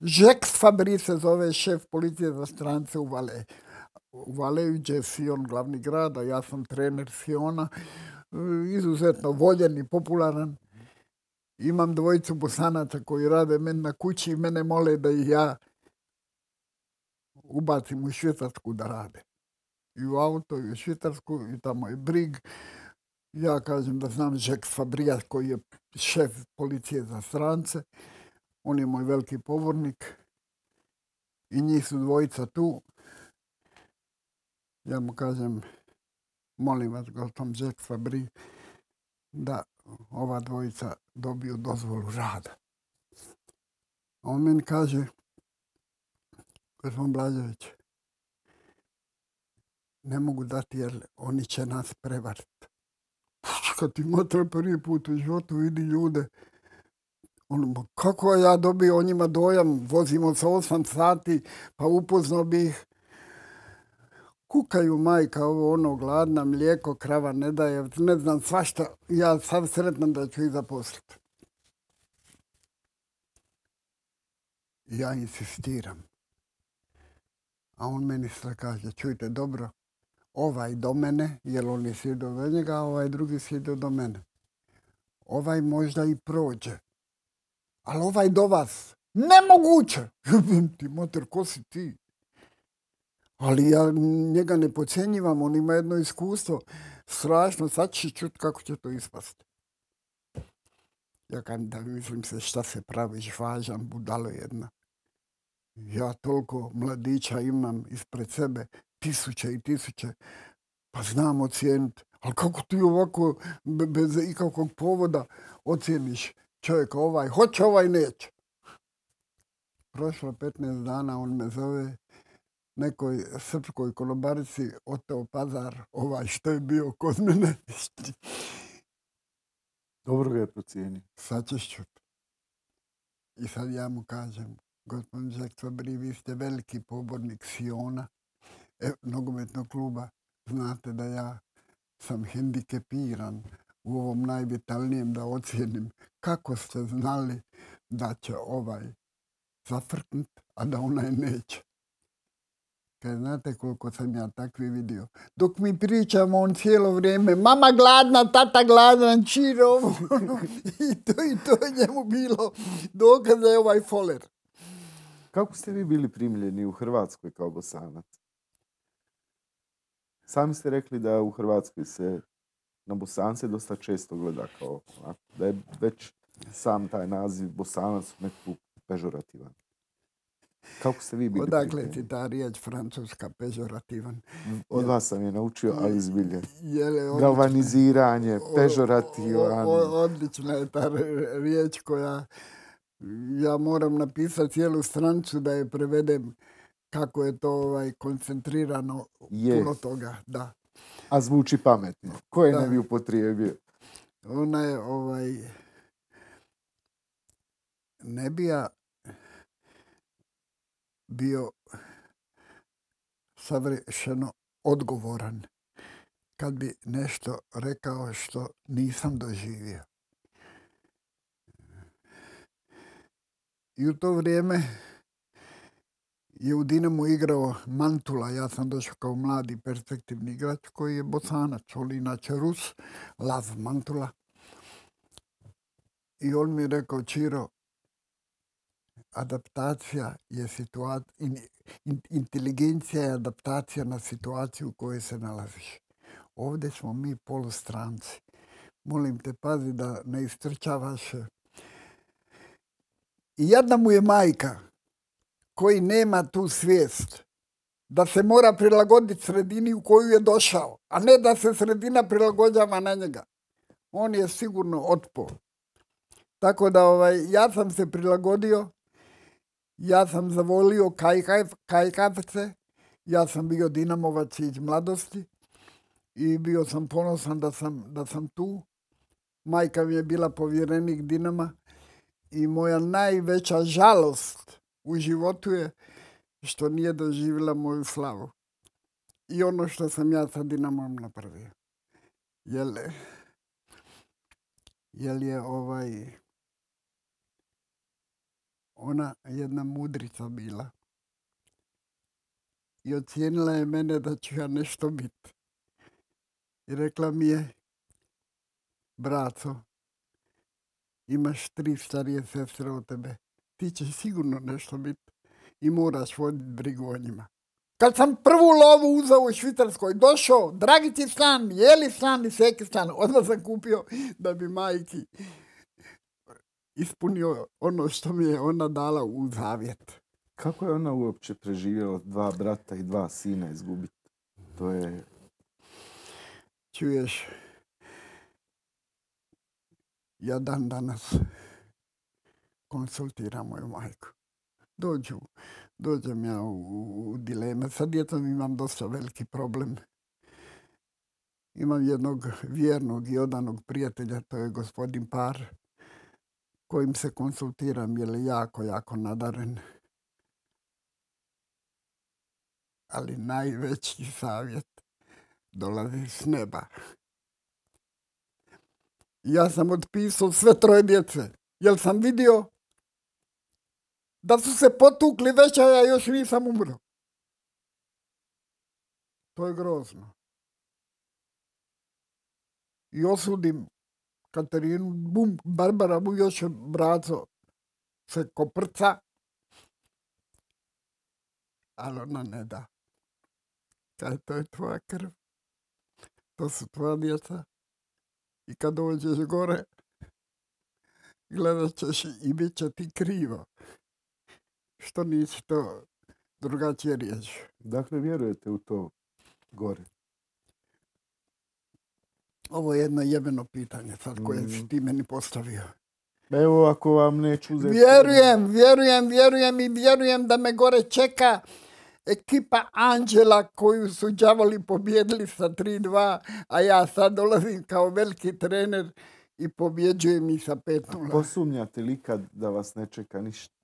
Jacques Fabry se zove, šef policije za strance u Valais. U Valaisu je Sion glavni grad, a ja sam trener Siona, izuzetno voljen i popularan. Imam dvojicu Bosanaca koji rade meni na kući i mene mole da ih ja ubacim u Švicarsku da rade. I u auto, i u Švicarsku, i tamo je Brig. Ja kažem da znam Jacques Fabrija koji je šef policije za strance. On je moj veliki pobornik. I njih su dvojica tu. Ja mu kažem, molim vas, gospodin Jacques Fabry, da ova dvojica dobiju dozvolu rada. A on meni kaže, gospodin Blažević, ne mogu dati jer oni će nas prevariti. Kad ti motra prvi put u životu vidi ljude, ono, kako ja dobio o njima dojam, vozimo se 8 sati, pa upoznao bi ih. Kukaju majka, ovo ono, gladna, mlijeko, krava ne daje, ne znam svašta, ja sam sretnan da ću ih zaposliti. Ja insistiram. A on meni sve kaže, čujte dobro, ovaj do mene, jer on je sjedio do njega, a ovaj drugi sjedio do mene. Ovaj možda i prođe, ali ovaj do vas, nemoguće! Ti moter, ko si ti? Ali ja njega ne podcjenjivam, on ima jedno iskustvo. Strašno, sad će čuti kako će to ispasti. Ja kažem da mislim se šta se praviš, važan, budalo jedna. Ja toliko mladića imam ispred sebe, tisuće i tisuće, pa znam ocijeniti. Ali kako ti ovako, bez ikakvog povoda, ocijeniš čovjeka ovaj, hoće ovaj, neće. Prošlo 15 dana, on me zove, nekoj srpskoj konobarici oteo pazar, ovaj što je bio kod mene. Dobro ga je procijenio. Sad ćeš čuti. I sad ja mu kažem, gospodin Jacques Fabry, vi ste veliki pobornik Siona, nogometnog kluba. Znate da ja sam hendikepiran u ovom najvitalnijem da ocijenim kako ste znali da će ovaj zafrknut, a da onaj neće. Kaj znate koliko sam ja takvi vidio. Dok mi pričamo, on cijelo vrijeme, mama gladna, tata gladan, čiro. I to je njemu bilo dokaz da je ovaj foler. Kako ste vi bili primljeni u Hrvatskoj kao Bosanac? Sami ste rekli da u Hrvatskoj se na Bosance dosta često gleda kao da je već sam taj naziv Bosanac nekako pežorativan. Kako ste vi bili Odakle ti ta riječ francuska pežorativan? Od vas sam je naučio, ali zbilje. Galvaniziranje, pežorativan. Odlična je ta riječ koja ja moram napisati cijelu stranicu da je prevedem kako je to koncentrirano puno toga. Da. A zvuči pametno. Ko je ne bi upotrijebio? Ona je ne bi ja bio savršeno odgovoran kad bi nešto rekao što nisam doživio. I u to vrijeme je u Dinamu igrao Mantula. Ja sam došao kao mladi perspektivni igrač koji je Bosanac, on inače Rus, Lav Mantula. I on mi je rekao, Čiro, adaptacija je inteligencija je adaptacija na situaciju u kojoj se nalaziš. Ovdje smo mi polustranci. Molim te, pazi da ne istrčavaš. I jedna mu je majka koji nema tu svijest da se mora prilagoditi sredini u koju je došao, a ne da se sredina prilagođava na njega. On je sigurno otpao. Tako da ja sam se prilagodio. Ja sam zavolio kajkavce, ja sam bio dinamovac iz mladosti i bio sam ponosan da sam tu. Majka mi je bila povjerenik Dinama i moja najveća žalost u životu je što nije doživjela moju slavu. I ono što sam ja sa Dinamom napravio. Jel je ona jedna mudrica bila i ocijenila je mene da ću ja nešto biti. I rekla mi je, braco, imaš 3 starije sestre od tebe, ti ćeš sigurno nešto biti i moraš voditi brigu o njima. Kad sam prvu lovu uzeo u Švicarskoj, došao, dragi ti stan, jeli stan i seki stan, odmah sam kupio da bi majki ispunio ono što mi je ona dala u zavjet. Kako je ona uopće preživjela 2 brata i 2 sina izgubiti? To je... Čuješ, ja dan danas konsultiram moju majku. Dođem ja u dileme. Sa djetom imam dosta veliki problem. Imam jednog vjernog i odanog prijatelja, to je gospodin Par, kojim se konsultiram, jer je jako nadaren. Ali najveći savjet dolazi s neba. Ja sam otpisao sve 3 djece, jer sam vidio da su se potukli već, a ja još nisam umro. To je grozno. I osudim Katarinu, Barbara mu još braco se koprca, ali ona ne da. Kaj, to je tvoja krv. To su tvoja djeca. I kad dođeš gore, gledat ćeš i bit će ti krivo. Što nisi to drugačije riješio. Dakle, vjerujete u to gore? Ovo je jedno jebeno pitanje sad koje si ti meni postavio. Evo, ako vam neću uzeti... Vjerujem da me gore čeka ekipa Anđela koju su đavoli pobjedili sa 3-2, a ja sad dolazim kao veliki trener i pobjeđujem ih sa 5-0. Posumnjate li kad da vas ne čeka ništa?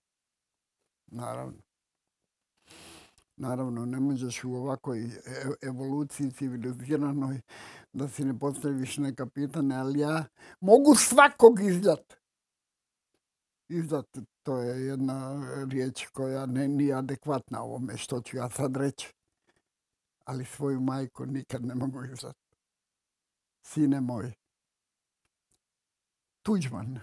Naravno, ne možeš u ovakvoj evoluciji civiliziranoj da si ne postaviš neka pitanja, ali ja mogu svakog izdat. Izdat, to je jedna riječ koja nije adekvatna ovome što ću ja sad reći. Ali svoju majku nikad ne mogu izdat. Sine moj, Tuđman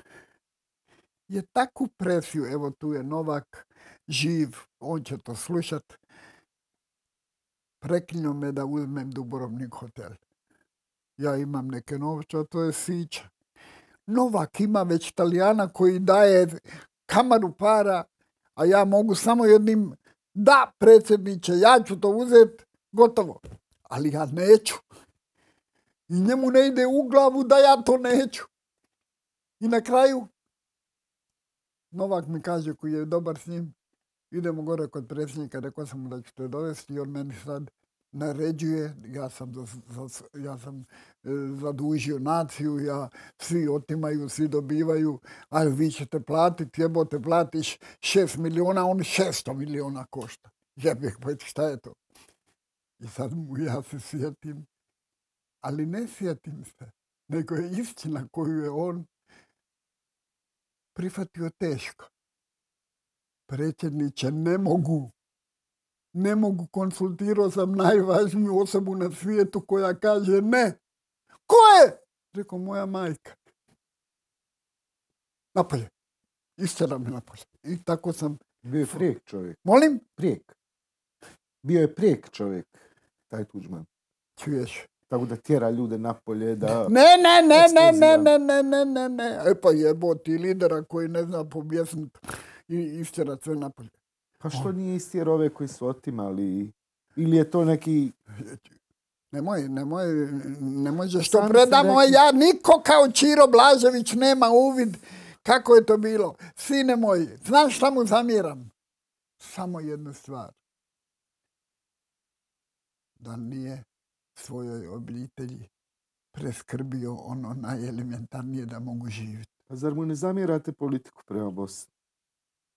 je takvu presiju, evo tu je Novak, živ, on će to slušat, preklinio me da uzmem Dubrovnik hotel. Ja imam neke novce, a to je sića. Novak ima već Talijana koji daje kamaru para, a ja mogu samo jednim, da predsjedniče, ja ću to uzeti, gotovo. Ali ja neću. I njemu ne ide u glavu da ja to neću. I na kraju, Novak mi kaže koji je dobar s njim, idemo gore kod predsjednika, rekao sam mu da ću te dovesti i on meni sad naređuje, ja sam zadužio naciju, svi otimaju, svi dobivaju, a vi ćete platiti, jebote, platiš 6 milijuna, on 600 milijuna košta. Jebek, pa šta je to? I sad ja se sjetim, ali ne sjetim se, nego je istina koju je on prihvatio teško. Predsjedniče, ne mogu, konsultirao sam najvažniju osobu na svijetu koja kaže ne. Ko je? Rekao, moja majka. Napolje. Istjera me napolje. I tako sam... Bio je prijek čovjek. Molim? Prijek. Bio je prijek čovjek, taj Tuđman. Čuješ? Tako da tjera ljude napolje da... Ne. E pa jeboti lidera koji ne zna pobjesniti i istjerat sve napolje. Pa što nije istjer ove koji su otimali? Ili je to neki... Nemoj što predamo. Ja niko kao Čiro Blažević nema uvid kako je to bilo. Sine moji, znaš šta mu zamjeram? Samo jednu stvar. Da nije svojoj obitelji preskrbio ono najelementarnije da mogu živjeti. Pa zar mu ne zamjerate politiku prema Bosni?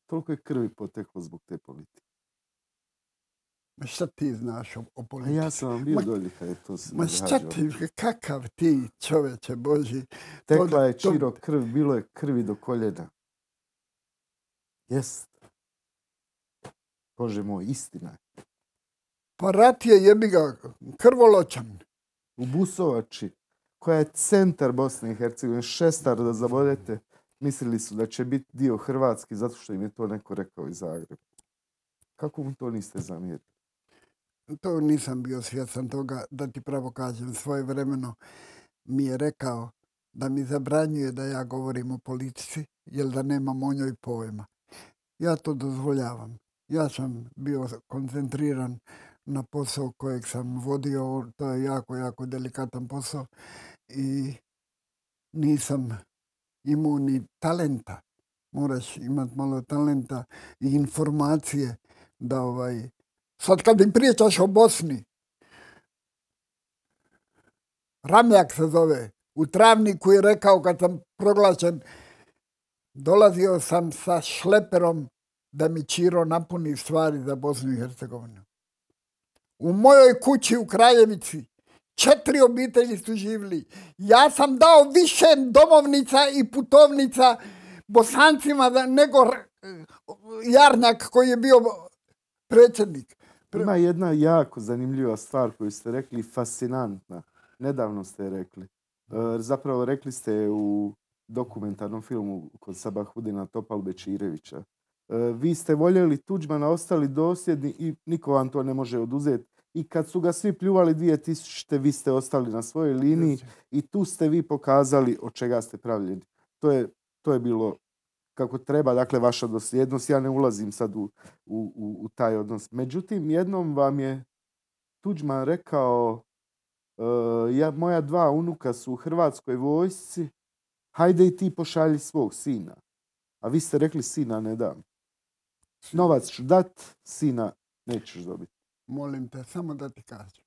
Toliko je krvi poteklo zbog te politike. Šta ti znaš o politici? A ja sam vam bio dolje kada je to se događalo. Šta ti, kakav ti čoveče Boži? Tekla je Čiro krv, bilo je krvi do koljena. Jest. Bože moj, istina je. Pa rat je jebiga krvoločan. U Busovači, koja je centar Bosne i Hercegovine, Šestar da zabodete, mislili su da će biti dio Hrvatski zato što im je to neko rekao iz Zagreba. Kako mu to niste zamjerili? To nisam bio svjestan toga, da ti pravo kažem. Svojevremeno mi je rekao da mi zabranjuje da ja govorim o politici, jer da nemam o njoj pojma. Ja to dozvoljavam. Ja sam bio koncentriran na posao kojeg sam vodio. To je jako, jako delikatan posao i nisam imao ni talenta. Moraš imati malo talenta i informacije da sad kad im pričaš o Bosni, Ramljak se zove, u Travniku je rekao kad sam proglašen, dolazio sam sa šleperom da mi Čiro napuni stvari za Bosnu i Hercegovinu. U mojoj kući u Kraljevici 4 obitelji su živjeli. Ja sam dao više domovnica i putovnica Bosancima nego Jarnjak koji je bio predsjednik. Ima jedna jako zanimljiva stvar koju ste rekli, fascinantna. Nedavno ste je rekli. Zapravo rekli ste u dokumentarnom filmu kod Sabahudina Topalbečirevića. Vi ste voljeli Tuđmana, ostali dosljedni i niko vam to ne može oduzeti. I kad su ga svi pljuvali 2000. vi ste ostali na svojoj liniji i tu ste vi pokazali od čega ste pravljeni. To je bilo kako treba, dakle, vaša dosljednost. Ja ne ulazim sad u taj odnos. Međutim, jednom vam je Tuđman rekao, moja 2 unuka su u Hrvatskoj vojsci, hajde i ti pošalji svog sina. A vi ste rekli, sina ne dam. Novac ću dat, sina nećeš dobiti. Molim te, samo da ti kažem.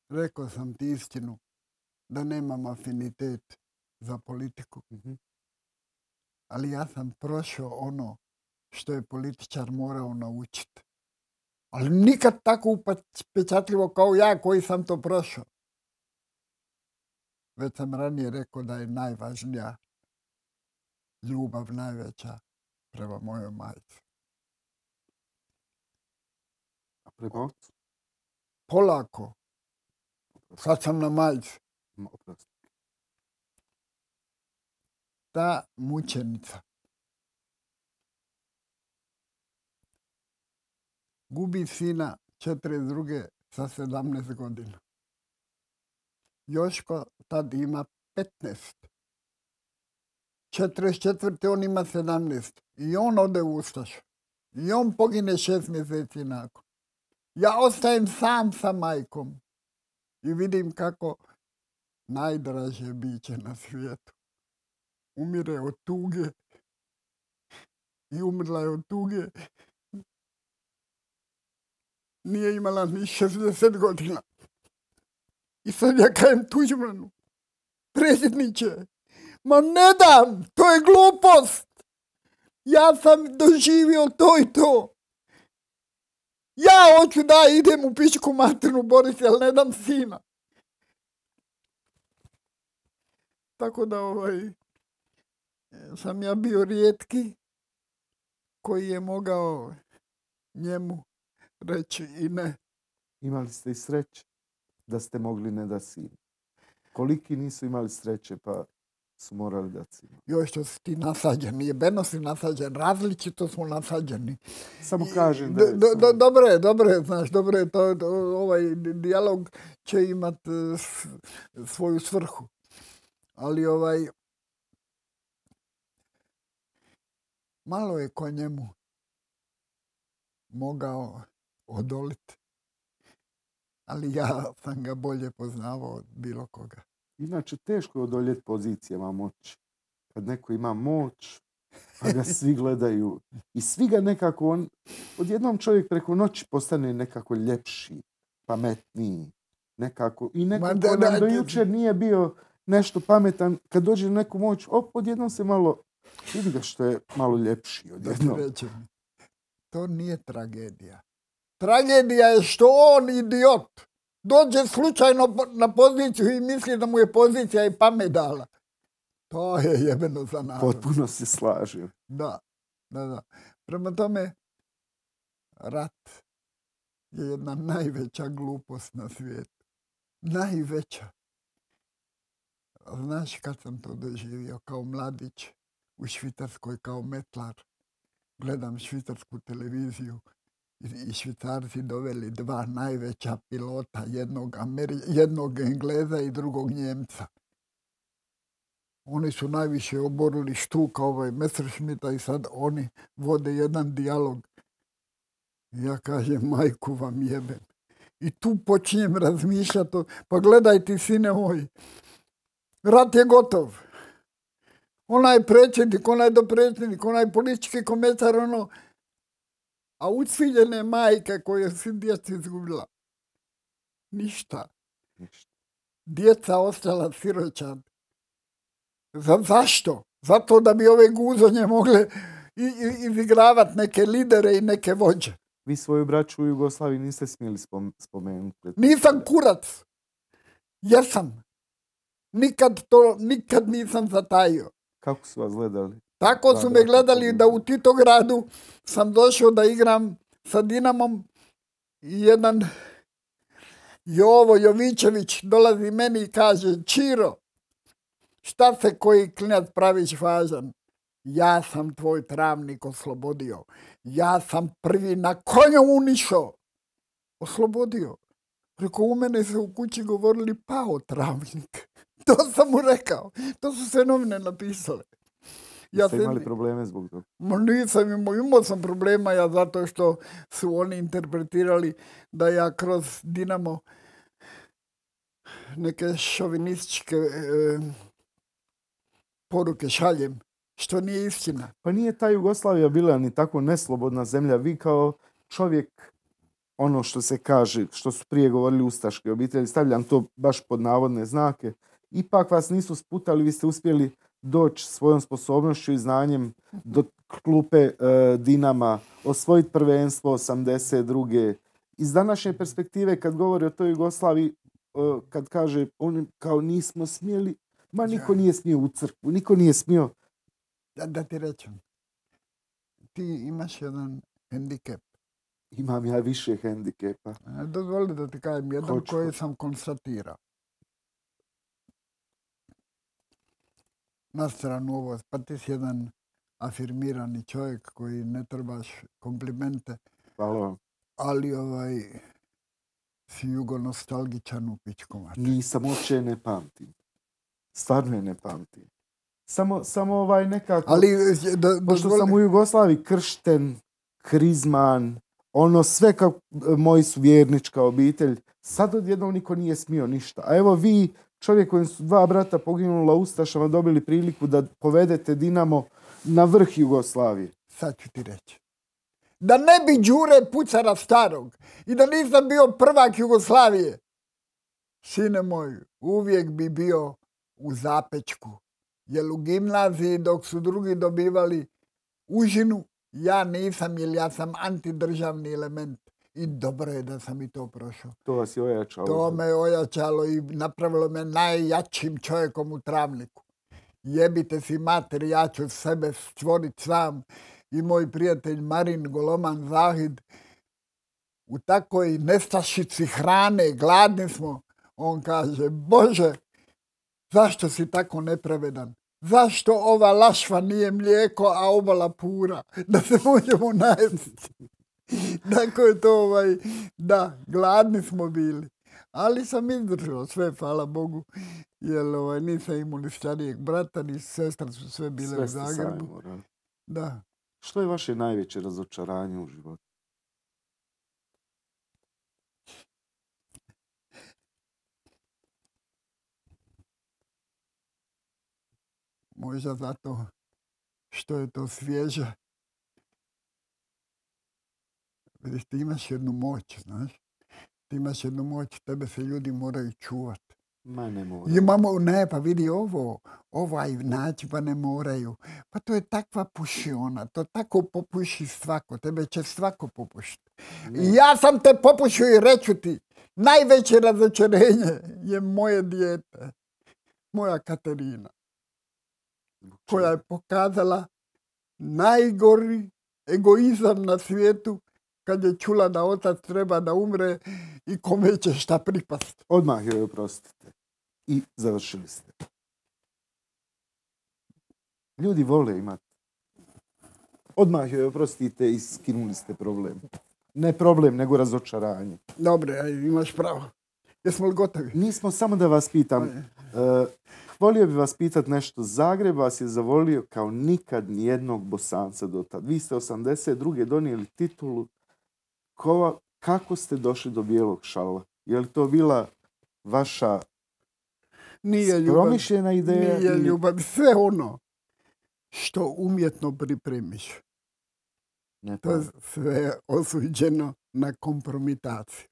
Rekao sam ti istinu da nemam afinitet za politiku. Ali ja sam prošao ono što je političar morao naučiti. Ali nikad tako upečatljivo kao ja koji sam to prošao. Već sam ranije rekao da je najvažnija ljubav najveća prema mojoj majci. A prema ocu? Polako. Sad sam na majci. Ta mučenica gubi sina 42. sa 17 godina. Joško tad ima 15. 44. on ima 17. I on ode u Ustašu. I on pogine 6 mjeseci nakon. Ja ostajem sam sa majkom i vidim kako najdraže biće na svijetu umire od tuge i umrla je od tuge. Nije imala ni 60 godina. I sad ja kajem Tuđmanu, predsjedniče, ma ne dam, to je glupost. Ja sam doživio to i to. Ja hoću da idem u pičku materinu boriti, ali ne dam sina. Tako da sam ja bio rijetki koji je mogao njemu reći i ne. Imali ste i sreće da ste mogli ne da sin. Koliki nisu imali sreće pa su morali dati sin. Joj, što si ti nasađen, jebeno si nasađen, različito smo nasađeni. Samo kažem da je... Dobro je, to ovaj dijalog će imat svoju svrhu. Ali malo je ko njemu mogao odoliti. Ali ja sam ga bolje poznavao od bilo koga. Inače, teško je odoljeti pozicijama moći. Kad neko ima moć, pa ga svi gledaju. I svi ga nekako, odjednom čovjek preko noći postane nekako ljepši, pametniji. Nekako. I nekako do jučer nije bio nešto pametan. Kad dođe neku moć, odjednom se malo, vidi ga što je malo ljepši odjednom. To nije tragedija. Tragedija je što on, idiot, dođe slučajno na poziciju i misli da mu je pozicija i pamet dala. To je jebeno za narod. Potpuno se slažem. Da. Prema tome, rat je jedna najveća glupost na svijetu. Najveća. Znaš kad sam to doživio kao mladić u Švicarskoj kao metlar. Gledam švicarsku televiziju i Švicarci doveli 2 najveća pilota, jednog Engleza i drugog Njemca. Oni su najviše oborili štuka Messerschmitta i sad oni vode jedan dijalog. Ja kažem, majku vam jebem. I tu počinjem razmišljati, pa gledaj ti, sine moj, rat je gotov. Onaj predsjednik, onaj dopredsjednik, onaj politički komentar, a uciljene majke koje si djeca izgubila. Ništa. Djeca ostala siročad. Zašto? Zato da bi ove guzonje mogle izigravati neke lidere i neke vođe. Vi svoju braću u Jugoslaviji niste smjeli spomenuti. Nisam kurac. Jesam. Nikad nisam zatajio. Kako su vas gledali? Tako su me gledali da u Titogradu sam došao da igram sa Dinamom i jedan Jovo Jovičević dolazi meni i kaže: Čiro, šta se koji klinac praviš važan? Ja sam tvoj Travnik oslobodio. Ja sam prvi na konju unišao. Oslobodio. Preko u mene se u kući govorili pao Travnik. To sam mu rekao. To su sve novine napisale. Jeste imali probleme zbog toga? Nisam imao sam problema zato što su oni interpretirali da ja kroz Dinamo neke šovinističke poruke šaljem, što nije istina. Pa nije ta Jugoslavija bila ni tako neslobodna zemlja. Vi kao čovjek, ono što se kaže, što su prije govorili ustaške obitelji, stavljam to baš pod navodne znake, ipak vas nisu sputali, vi ste uspjeli doći svojom sposobnošću i znanjem do klupe Dinama, osvojiti prvenstvo 82. Iz današnje perspektive, kad govori o toj Jugoslaviji, kad kaže oni kao nismo smjeli, ma niko nije smio u crkvu, niko nije smio. Da ti rečem, ti imaš jedan hendikep. Imam ja više hendikepa. Dozvoli da ti kažem jedan koji sam konstatirao. Na stranu ovo, pa ti si jedan afirmirani čovjek koji ne trebaš komplimente. Hvala vam. Ali si jugonostalgičan u pičku. Nisam, uopće ne pamtim. Stvarno je ne pamtim. Samo nekako... Ali, pošto sam u Jugoslaviji kršten, krizman, sve kao moji su vjernička obitelj. Sad odjednom niko nije smio ništa. A evo vi, čovjek kojim su 2 brata poginula ustašama, dobili priliku da povedete Dinamo na vrh Jugoslavije. Sad ću ti reći. Da ne bi Đure Pucara starog i da nisam bio prvak Jugoslavije, sine moj, uvijek bi bio u Zapečku. Jer u gimnaziji dok su drugi dobivali užinu, ja nisam, jer ja sam antidržavni element. I dobro je da sam i to prošao. To vas je ojačalo. To me ojačalo i napravilo me najjačim čovjekom u Travniku. Jebite si mater, ja ću sebe stvoriti sam. I moj prijatelj Marin Goloman Zahid u takoj nestašici hrane, gladni smo. On kaže: Bože, zašto si tako nepravedan? Zašto ova lašva nije mlijeko, a obala pura? Da se možemo najesti. Tako je to, da, gladni smo bili. Ali sam izdržao sve, hvala Bogu, jer nisam imao ni starijeg brata, ni sestra, su sve bile u Zagrebu. Da. Što je vaše najveće razočaranje u životu? Možda zato što je to svježe. Vidiš, ti imaš jednu moć, znaš. Ti imaš jednu moć, tebe se ljudi moraju čuvati. Ma ne moraju. Pa vidi ovaj način, pa ne moraju. Pa to je takva pušiona, to tako popuši svako, tebe će svako popušiti. I ja sam te popušio i reću ti, najveće razočarenje je moje dijete, moja Katerina, koja je pokazala najgori egoizam na svijetu kad je čula da otac treba da umre i kome će šta pripasti. Odmah joj oprostite. I završili ste. Ljudi vole imati. Odmah joj oprostite i skinuli ste problem. Ne problem, nego razočaranje. Dobre, imaš pravo. Jesmo li gotovi? Nismo, samo da vas pitam. Volio bi vas pitati nešto. Zagreb vas je zavolio kao nikad nijednog Bosanca do tad. Vi ste 82. donijeli titulu kako ste došli do bijelog šala? Je li to bila vaša promišljena ideja? Nije ljubav. Sve ono što umjetno pripremiš. To je sve osuđeno na kompromitaciju.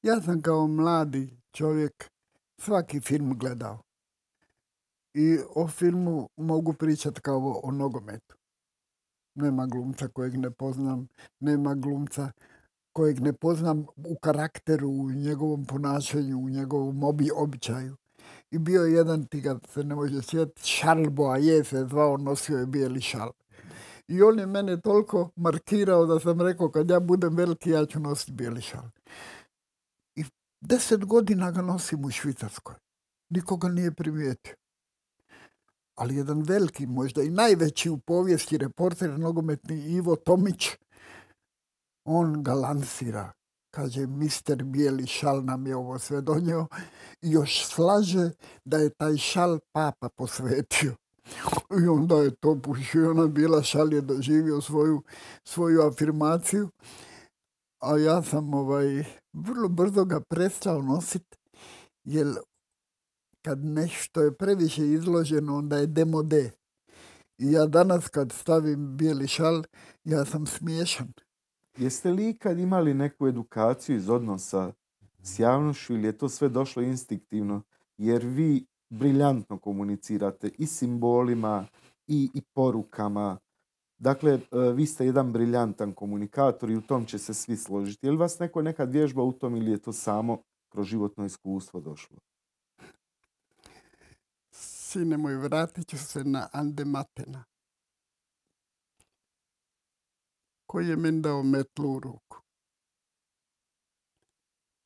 Ja sam kao mladi čovjek svaki film gledao. I o filmu mogu pričati kao o nogometu. Nema glumca kojeg ne poznam, nema glumca kojeg ne poznam u karakteru, u njegovom ponašanju, u njegovom običaju. I bio je jedan, ti ga se ne može sjetiti, Charles Boyer se zvao, nosio je bijeli šal. I on je mene toliko markirao da sam rekao, kad ja budem veliki, ja ću nositi bijeli šal. I 10 godina ga nosim u Švicarskoj. Nikoga nije primijetio. Ali jedan veliki, možda i najveći u povijesti reporter nogometni Ivo Tomić, on ga lansira. Kaže, mister bijeli šal nam je ovo sve donio i još slaže da je taj šal papa posvetio. I onda je to pušio, ona bijela šal je doživio svoju afirmaciju. A ja sam vrlo brzo ga prestao nositi, jer kad nešto je previše izloženo, onda je demode. I ja danas kad stavim bijeli šal, ja sam smiješan. Jeste li ikad imali neku edukaciju iz odnosa s javnošću ili je to sve došlo instinktivno? Jer vi briljantno komunicirate i simbolima i porukama. Dakle, vi ste jedan briljantan komunikator i u tom će se svi složiti. Je li vas neko nekad vježba u tom ili je to samo kroz životno iskustvo došlo? Sine moj, vratit ću se na Ande Matena, koji je meni dao metlu u ruku.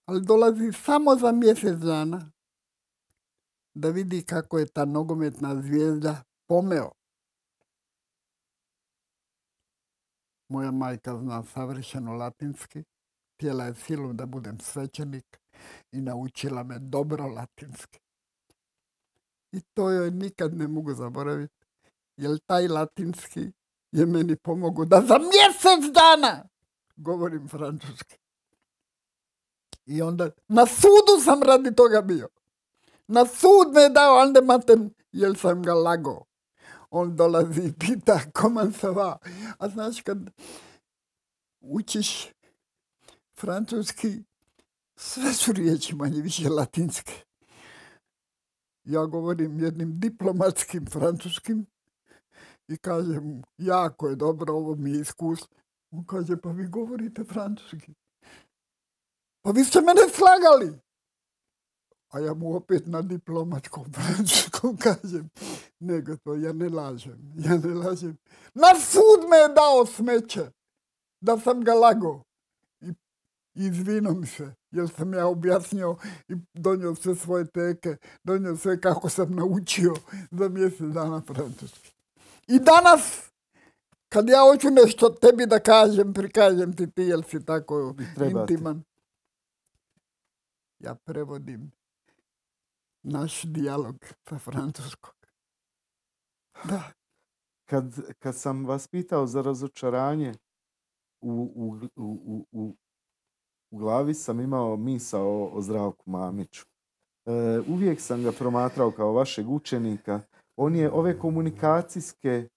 Ali dolazi samo za mjesec dana da vidi kako je ta nogometna zvijezda pomeo. Moja majka zna savršeno latinski, htjela je silom da budem svećenik i naučila me dobro latinski. I to joj nikad ne mogu zaboraviti, jer taj latinski je meni pomogao da za mjesec dana govorim francuski. I onda na sudu sam radi toga bio. Na sud me je dao Ande Maten, jer sam ga lagao. On dolazi i pita comment ça va. A znaš, kad učiš francuski, sve su riječi manje više latinske. Ja govorim jednim diplomatskim francuskim i kažem, jako je dobro, ovo mi je iskustvo. On kaže, pa vi govorite francuski. Pa vi ste mene slagali. A ja mu opet na diplomatskom francuskom kažem, nego to, ja ne lažem. Na sud me je dao smeće, da sam ga lagao. I izvinom se, jer sam ja objasnio i donio sve svoje teke, donio sve kako sam naučio za mjesec dana francuski. I danas, kad ja hoću nešto tebi da kažem, prikažem ti, jer si tako intiman. Ja prevodim naš dijalog sa francuskog. Da. Kad sam vas pitao za razočaranje, u glavi sam imao misao o Zdravku Mamiću. Uvijek sam ga promatrao kao vašeg učenika. On je ove komunikacijske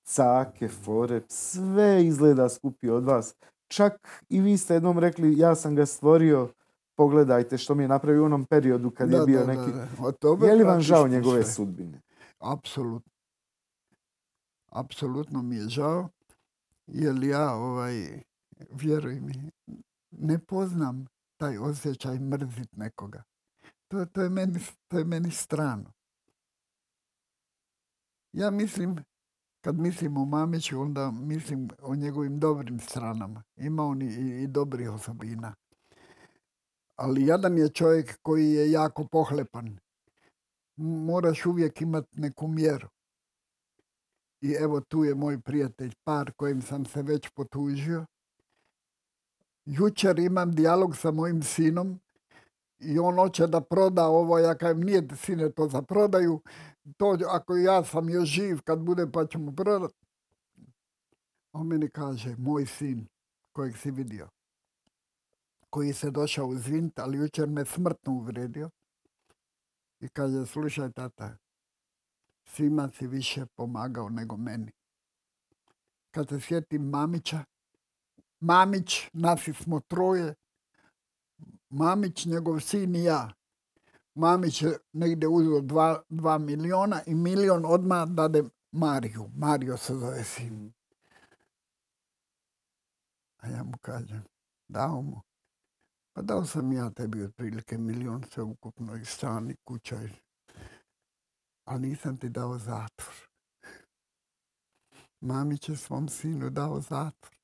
cake, fore, sve izgleda skupio od vas. Čak i vi ste jednom rekli, ja sam ga stvorio, pogledajte što mi je napravio u onom periodu kad je bio neki... Je li vam žao njegove sudbine? Apsolutno. Apsolutno mi je žao, jer ja, vjeruj mi, ne poznam taj osjećaj mrzit nekoga. To je meni strano. Ja mislim, kad mislim o Mamiću, onda mislim o njegovim dobrim stranama. Ima on i dobrih osobina. Ali jadan je čovjek koji je jako pohlepan. Moraš uvijek imati neku mjeru. I evo tu je moj prijatelj Par, kojim sam se već potužio. Jučer imam dijalog sa mojim sinom i on hoće da proda ovo. Ja kažem, nije sine to za prodaju. To ako ja sam još živ, kad bude pa ćemo prodati. On meni kaže, moj sin kojeg si vidio, koji se došao izviniti, ali jučer me smrtno uvredio. I kaže, slušaj tata, svima si više pomagao nego meni. Kad se sjetim Mamić, nas smo troje, Mamić, njegov sin i ja. Mamić je negdje uzeo 2 miliona i 1 milion odmah dade Mariju. Mario se zove sin. A ja mu kažem, dao mu. Pa dao sam ja tebi otprilike 1 milion sve ukupno i stan i kuća. Ali nisam ti dao zatvor. Mamić je svom sinu dao zatvor.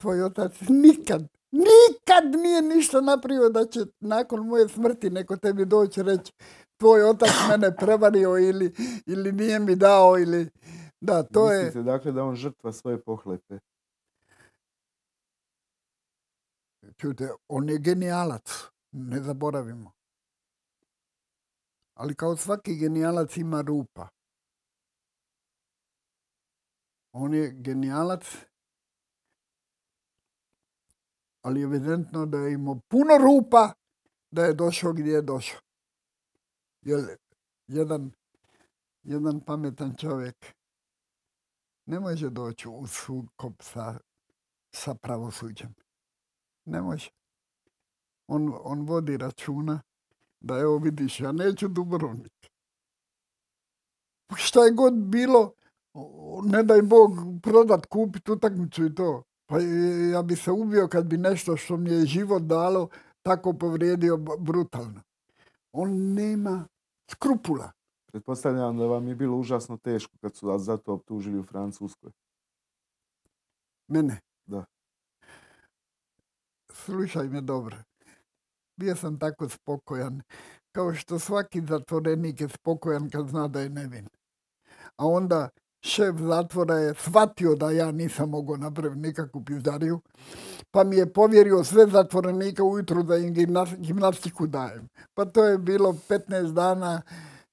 Tvoj otac nikad nije ništa napravio da će nakon moje smrti neko tebi doći reći tvoj otac mene prevario ili nije mi dao ili... Da, to je... Mislite dakle da on žrtva svoje pohlepe? Čujte, on je genijalac, ne zaboravimo. Ali kao svaki genijalac ima rupa. On je genijalac, ali evidentno da je imao puno rupa da je došao gdje je došao. Jer jedan pametan čovjek ne može doći u sukob sa pravosuđem. Ne može. On vodi računa da evo vidiš, ja neću Dubrovnik. Šta je god bilo, ne daj Bog prodat, kupiti utakmicu i to. Pa ja bi se ubio kad bi nešto što mi je život dalo tako povrijedio brutalno. On nema skrupula. Pretpostavljam da vam je bilo užasno teško kad su vas zato optužili u Francuskoj. Mene? Da. Slušaj me dobro. Bio sam tako spokojan, kao što svaki zatvorenik je spokojan kad zna da je nevin. A onda šef zatvora je shvatio da ja nisam mogao napraviti nikakvu pizdariju, pa mi je povjerio sve zatvorenike ujutru da im gimnastiku dajem. Pa to je bilo 15 dana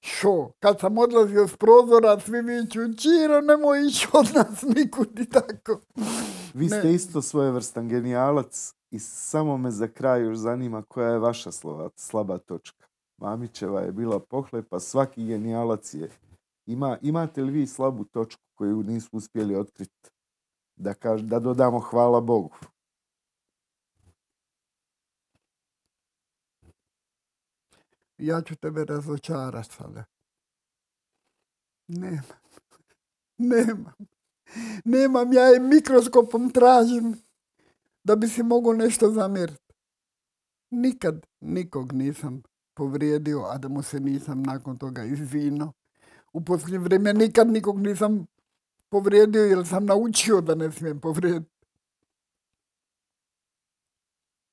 šo. Kad sam odlazio s prozora, svi viču, Čiro, nemoj ići od nas nikud i tako. Vi ste isto svojevrstan genijalac i samo me za kraj još zanima koja je vaša slaba točka. Mamićeva je bila pohlepa, svaki genijalac je. Imate li vi slabu točku koju nisu uspjeli otkriti? Da dodamo hvala Bogu. Ja ću tebe razočarati sada. Nemam, ja je mikroskopom tražim da bi si mogao nešto zamjeriti. Nikad nikog nisam povrijedio, a da mu se nisam nakon toga izvinio. U posljednje vrijeme nikad nikog nisam povrijedio jer sam naučio da ne smijem povrijediti.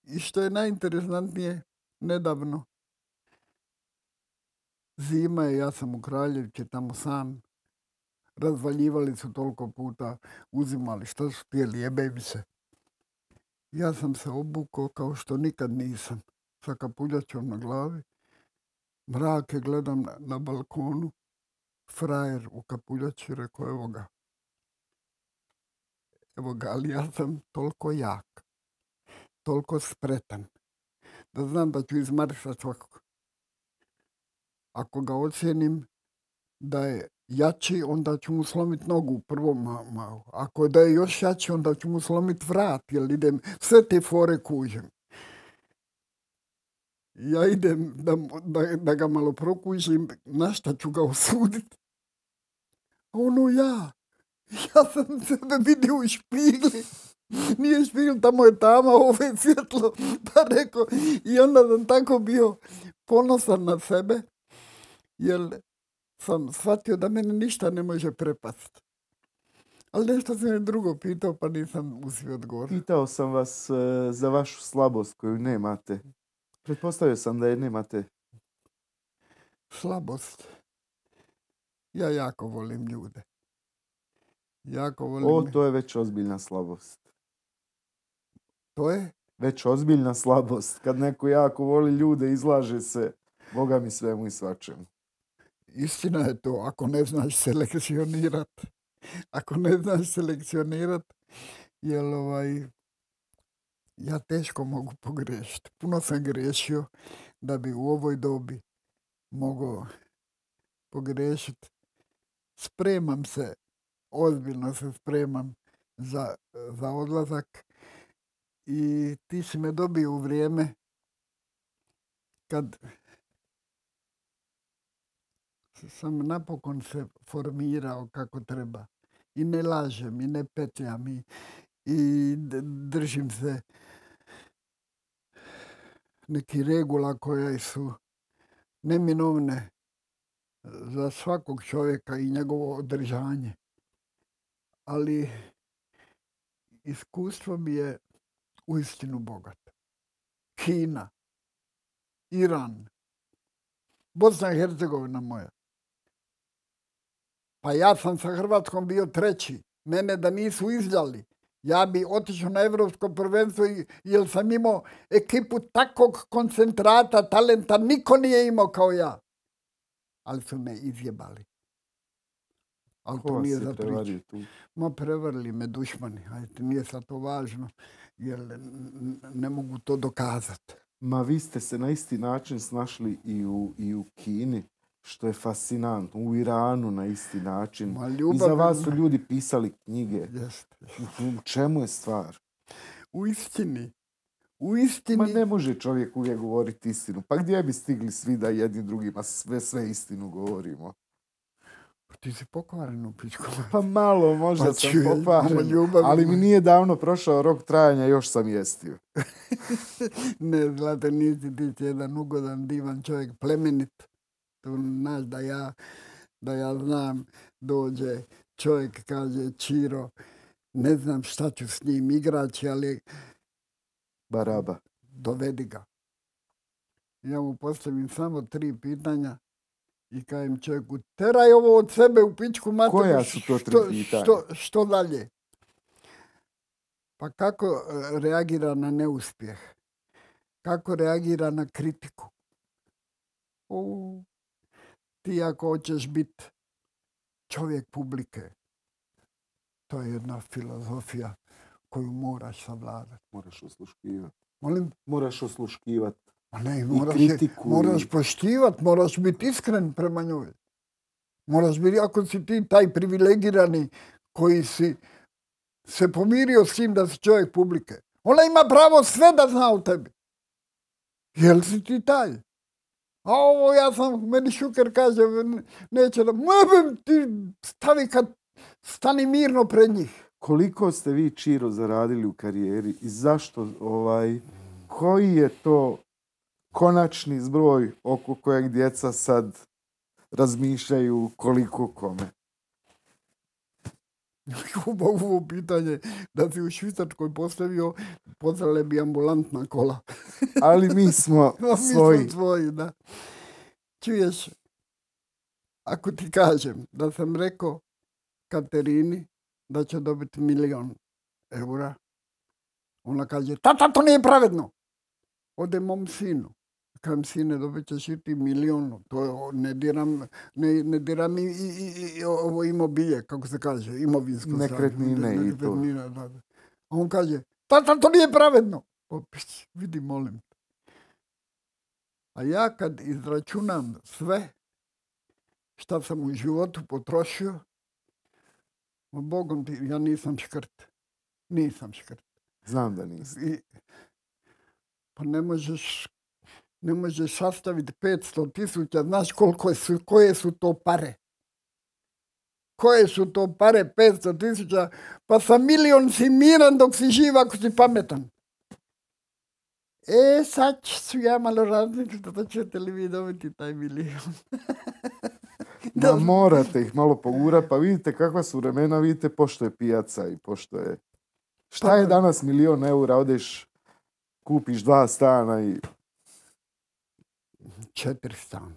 I što je najinteresantnije, nedavno, zima je, ja sam u Kraljevici, tamo sam, razvaljivali su toliko puta, uzimali što su htjeli, jebe se. Ja sam se obukao kao što nikad nisam, sa kapuljačom na glavi. Mrake gledam na balkonu, frajer u kapuljači, rekao, evo ga, ali ja sam toliko jak, toliko spretan, da znam da ću izmarisati svakog. Ako ga ocjenim da je jači, onda ću mu slomiti nogu prvo malo. Ako da je još jači, onda ću mu slomiti vrat, jer idem, sve te fore kužem. Ja idem da ga malo prokužim, na šta ću ga osuditi. Ono ja sam sebe vidio u špigli. Nije špigl, tamo je tama, ovo je svjetlo. Pa rekao, i onda sam tako bio ponosan na sebe, jer sam shvatio da mene ništa ne može prepasti. Ali nešto sam je drugo pitao, pa nisam uspio odgovoriti. Pitao sam vas za vašu slabost koju nemate. Pretpostavio sam da je nemate. Slabost. Ja jako volim ljude. To je već ozbiljna slabost. To je? Već ozbiljna slabost. Kad neko jako voli ljude, izlaže se, Boga mi, svemu i svačemu. Istina je to, ako ne znaš selekcionirati. Jer Ja teško mogu pogriješiti. Puno sam griješio da bi u ovoj dobi mogao pogriješiti. Spremam se, ozbiljno se spremam za odlazak i ti si me dobio u vrijeme kad sam napokon se formirao kako treba. I ne lažem, i ne petljam, i držim se neki regula koje su neminovne za svakog čovjeka i njegovo održanje. Ali iskustvo mi je uistinu bogato. Kina, Iran, Bosna i Hercegovina moja. Pa ja sam sa Hrvatskom bio treći. Mene da nisu izdali, ja bi otišao na Evropsko prvenstvo jer sam imao ekipu takvog koncentrata, talenta, niko nije imao kao ja. Ali su me izjebali. Ali to nije za priču. Ma prevarili me dušmani, ajde, nije sad to važno, jer ne mogu to dokazati. Ma vi ste se na isti način snašli i u Kini, što je fascinantno, u Iranu na isti način. I za vas su ljudi pisali knjige. U čemu je stvar? U istini. U istini. Ma ne može čovjek uvijek govoriti istinu. Pa gdje bi stigli svi da jedni drugima sve istinu govorimo? Ti si pokvaren u pičku. Pa malo, možda sam pokvaren, ali mi nije davno prošao rok trajanja, još sam jestio. Ne, Zlate, nisi ti jedan ugodan, divan čovjek, plemenit. To znaš da ja znam, dođe čovjek, kaže Čiro, ne znam šta ću s njim igraći, ali Baraba, dovedi ga. Ja mu postavim samo 3 pitanja i kažem čovjeku, teraj ovo od sebe u pičku materu. Koja su to 3 pitanja? Što dalje? Pa kako reagira na neuspjeh? Kako reagira na kritiku? Ti ako hoćeš biti čovjek publike, to je jedna filozofija koju moraš savladati. Moraš osluškivati. Molim? Moraš osluškivati. Moraš poštivati, moraš biti iskren prema njoj. Moraš biti, ako si ti taj privilegirani koji si se pomirio s tim da si čovjek publike, ona ima pravo sve da zna o tebi. Jel si ti taj? A ovo meni Šuker kaže, neće da, ti stavi kad stani mirno pred njih. Koliko ste vi, Čiro, zaradili u karijeri i zašto, koji je to konačni zbroj oko kojeg djeca sad razmišljaju koliko kome? Ovo pitanje da si u Švicarskoj postavio, pozdravile bi ambulantna kola. Ali mi smo svoji. Mi smo svoji, da. Čuješ, ako ti kažem da sam rekao Katerini da će dobiti 1.000.000 eura, ona kaže, tata, to nije pravedno. Ode mom sinu. Kažem, sine, dobit ćeš i ti 1.000.000. To ne diram i ovo imobilje, kako se kaže, imovinsko. Nekretnine i to. Da. A on kaže, tata, to nije pravedno. Vidi, molim. A ja kad izračunam sve šta sam u životu potrošio, Bogom ti, ja nisam škrt. Nisam škrt. Znam da nisi. Pa ne možeš sastaviti 500.000, znaš koje su to pare. Koje su to pare, 500.000, pa sa 1.000.000 si miran dok si živ ako si pametan. Sad ću ja malo razmisliti da ćete li vi dobiti taj 1.000.000. Da morate ih malo pogurati, pa vidite kakva su vremena, vidite pošto je pijaca i pošto je... Šta je danas 1.000.000 eura, odeš, kupiš 2 stana i... 4 stana.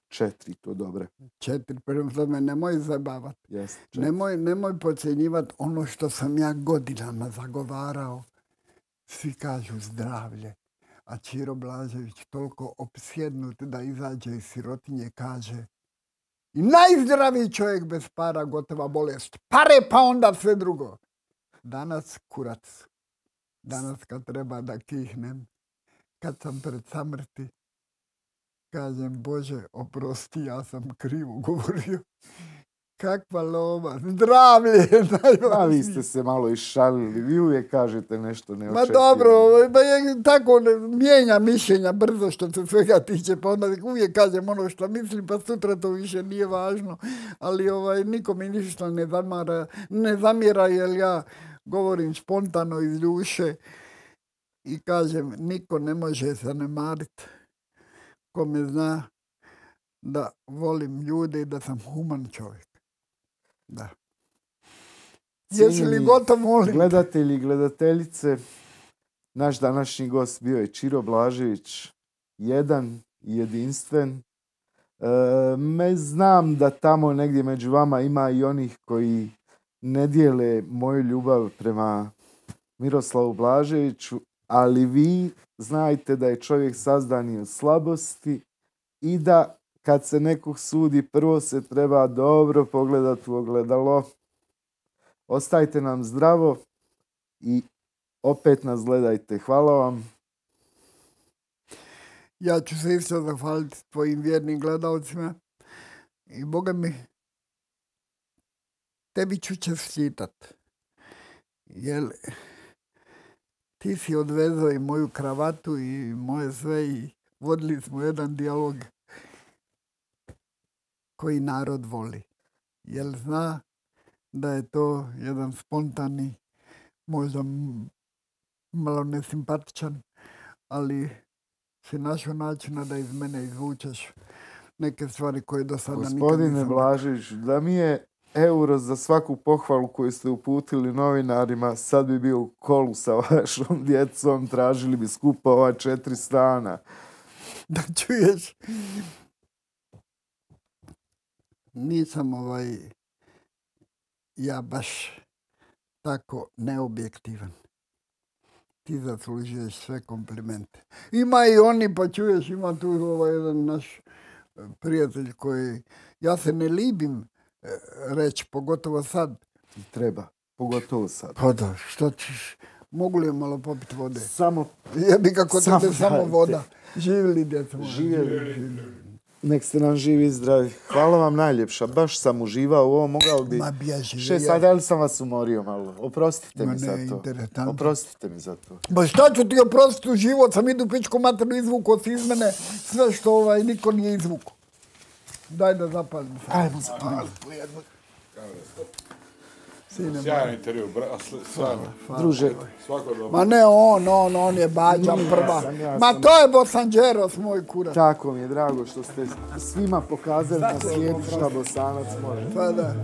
4, to dobre. 4, prema tome nemoj zabavati. Yes, nemoj podcjenjivati ono što sam ja godinama zagovarao. Svi kažu zdravlje. A Čiro Blažević toliko opsjednut da izađe iz sirotinje kaže i najzdraviji čovjek bez para, gotova bolest. Pare pa onda sve drugo. Danas kurac. Danas kad treba da kihnem, kad sam pred samrti, kažem, Bože, oprosti, ja sam krivo govorio. Kakva lova, zdravlje je najvažnije. A vi ste se malo išalili, vi uvijek kažete nešto neočekivano. Ma dobro, tako mijenja mišljenja brzo što se svega tiče, pa onda uvijek kažem ono što mislim, pa sutra to više nije važno. Ali niko mi ništa ne zamjera jer ja govorim spontano iz duše i kažem, niko ne može zanemariti ko me zna da volim ljude i da sam human čovjek. Da. Jesi li gotov, molim? Gledatelji i gledateljice, naš današnji gost bio je Čiro Blažević, jedan i jedinstven. Znam da tamo negdje među vama ima i onih koji ne dijele moju ljubav prema Miroslavu Blaževiću, ali vi znajte da je čovjek sazdan od slabosti i da kad se nekog sudi, prvo se treba dobro pogledati u ogledalo. Ostajte nam zdravo i opet nas gledajte. Hvala vam. Ja ću se isto zahvaliti tvojim vjernim gledalcima i Boga mi, tebi ću čestitat. Jer ti si odvezao i moju kravatu i moje sve i vodili smo jedan dijalog koji narod voli. Jer zna da je to jedan spontani, možda malo nesimpatičan, ali si našao načina da iz mene izvučeš neke stvari koje do sada nikad nisam. Gospodine Blažević, da mi je euro za svaku pohvalu koju ste uputili novinarima, sad bi bio u kolu sa vašom djecom, tražili bi skupa ova 4 stana. Da čuješ, nisam ja baš tako neobjektivan. Ti zaslužuješ sve komplimente. Ima i oni, pa čuješ, ima tu jedan naš prijatelj koji, ja se ne libim reći, pogotovo sad. Treba, pogotovo sad. Pa da, što ćeš, mogu li malo popiti vode? Samo. Jebi kako tebe samo voda. Živjeli djeca moja. Živjeli. Nek ste nam živi i zdravi. Hvala vam najljepša. Baš sam uživao u ovo. Mogao bi... Ma bježi. 6 sati, ali sam vas umorio malo. Oprostite mi za to. Oprostite mi za to. Ba šta ću ti oprostiti u život? Sam idu pičku maternu izvuku od iz mene. Sve što niko nije izvuku. Daj da zapalim. Ajmo zapaliti po jednu. Sjajan intervju, stvarno. Druže. Ma ne on je bađa prva. Ma to je Bosanđeros, moj kurac. Tako mi je drago što ste svima pokazali na svijetu šta Bosanac može. Pa da.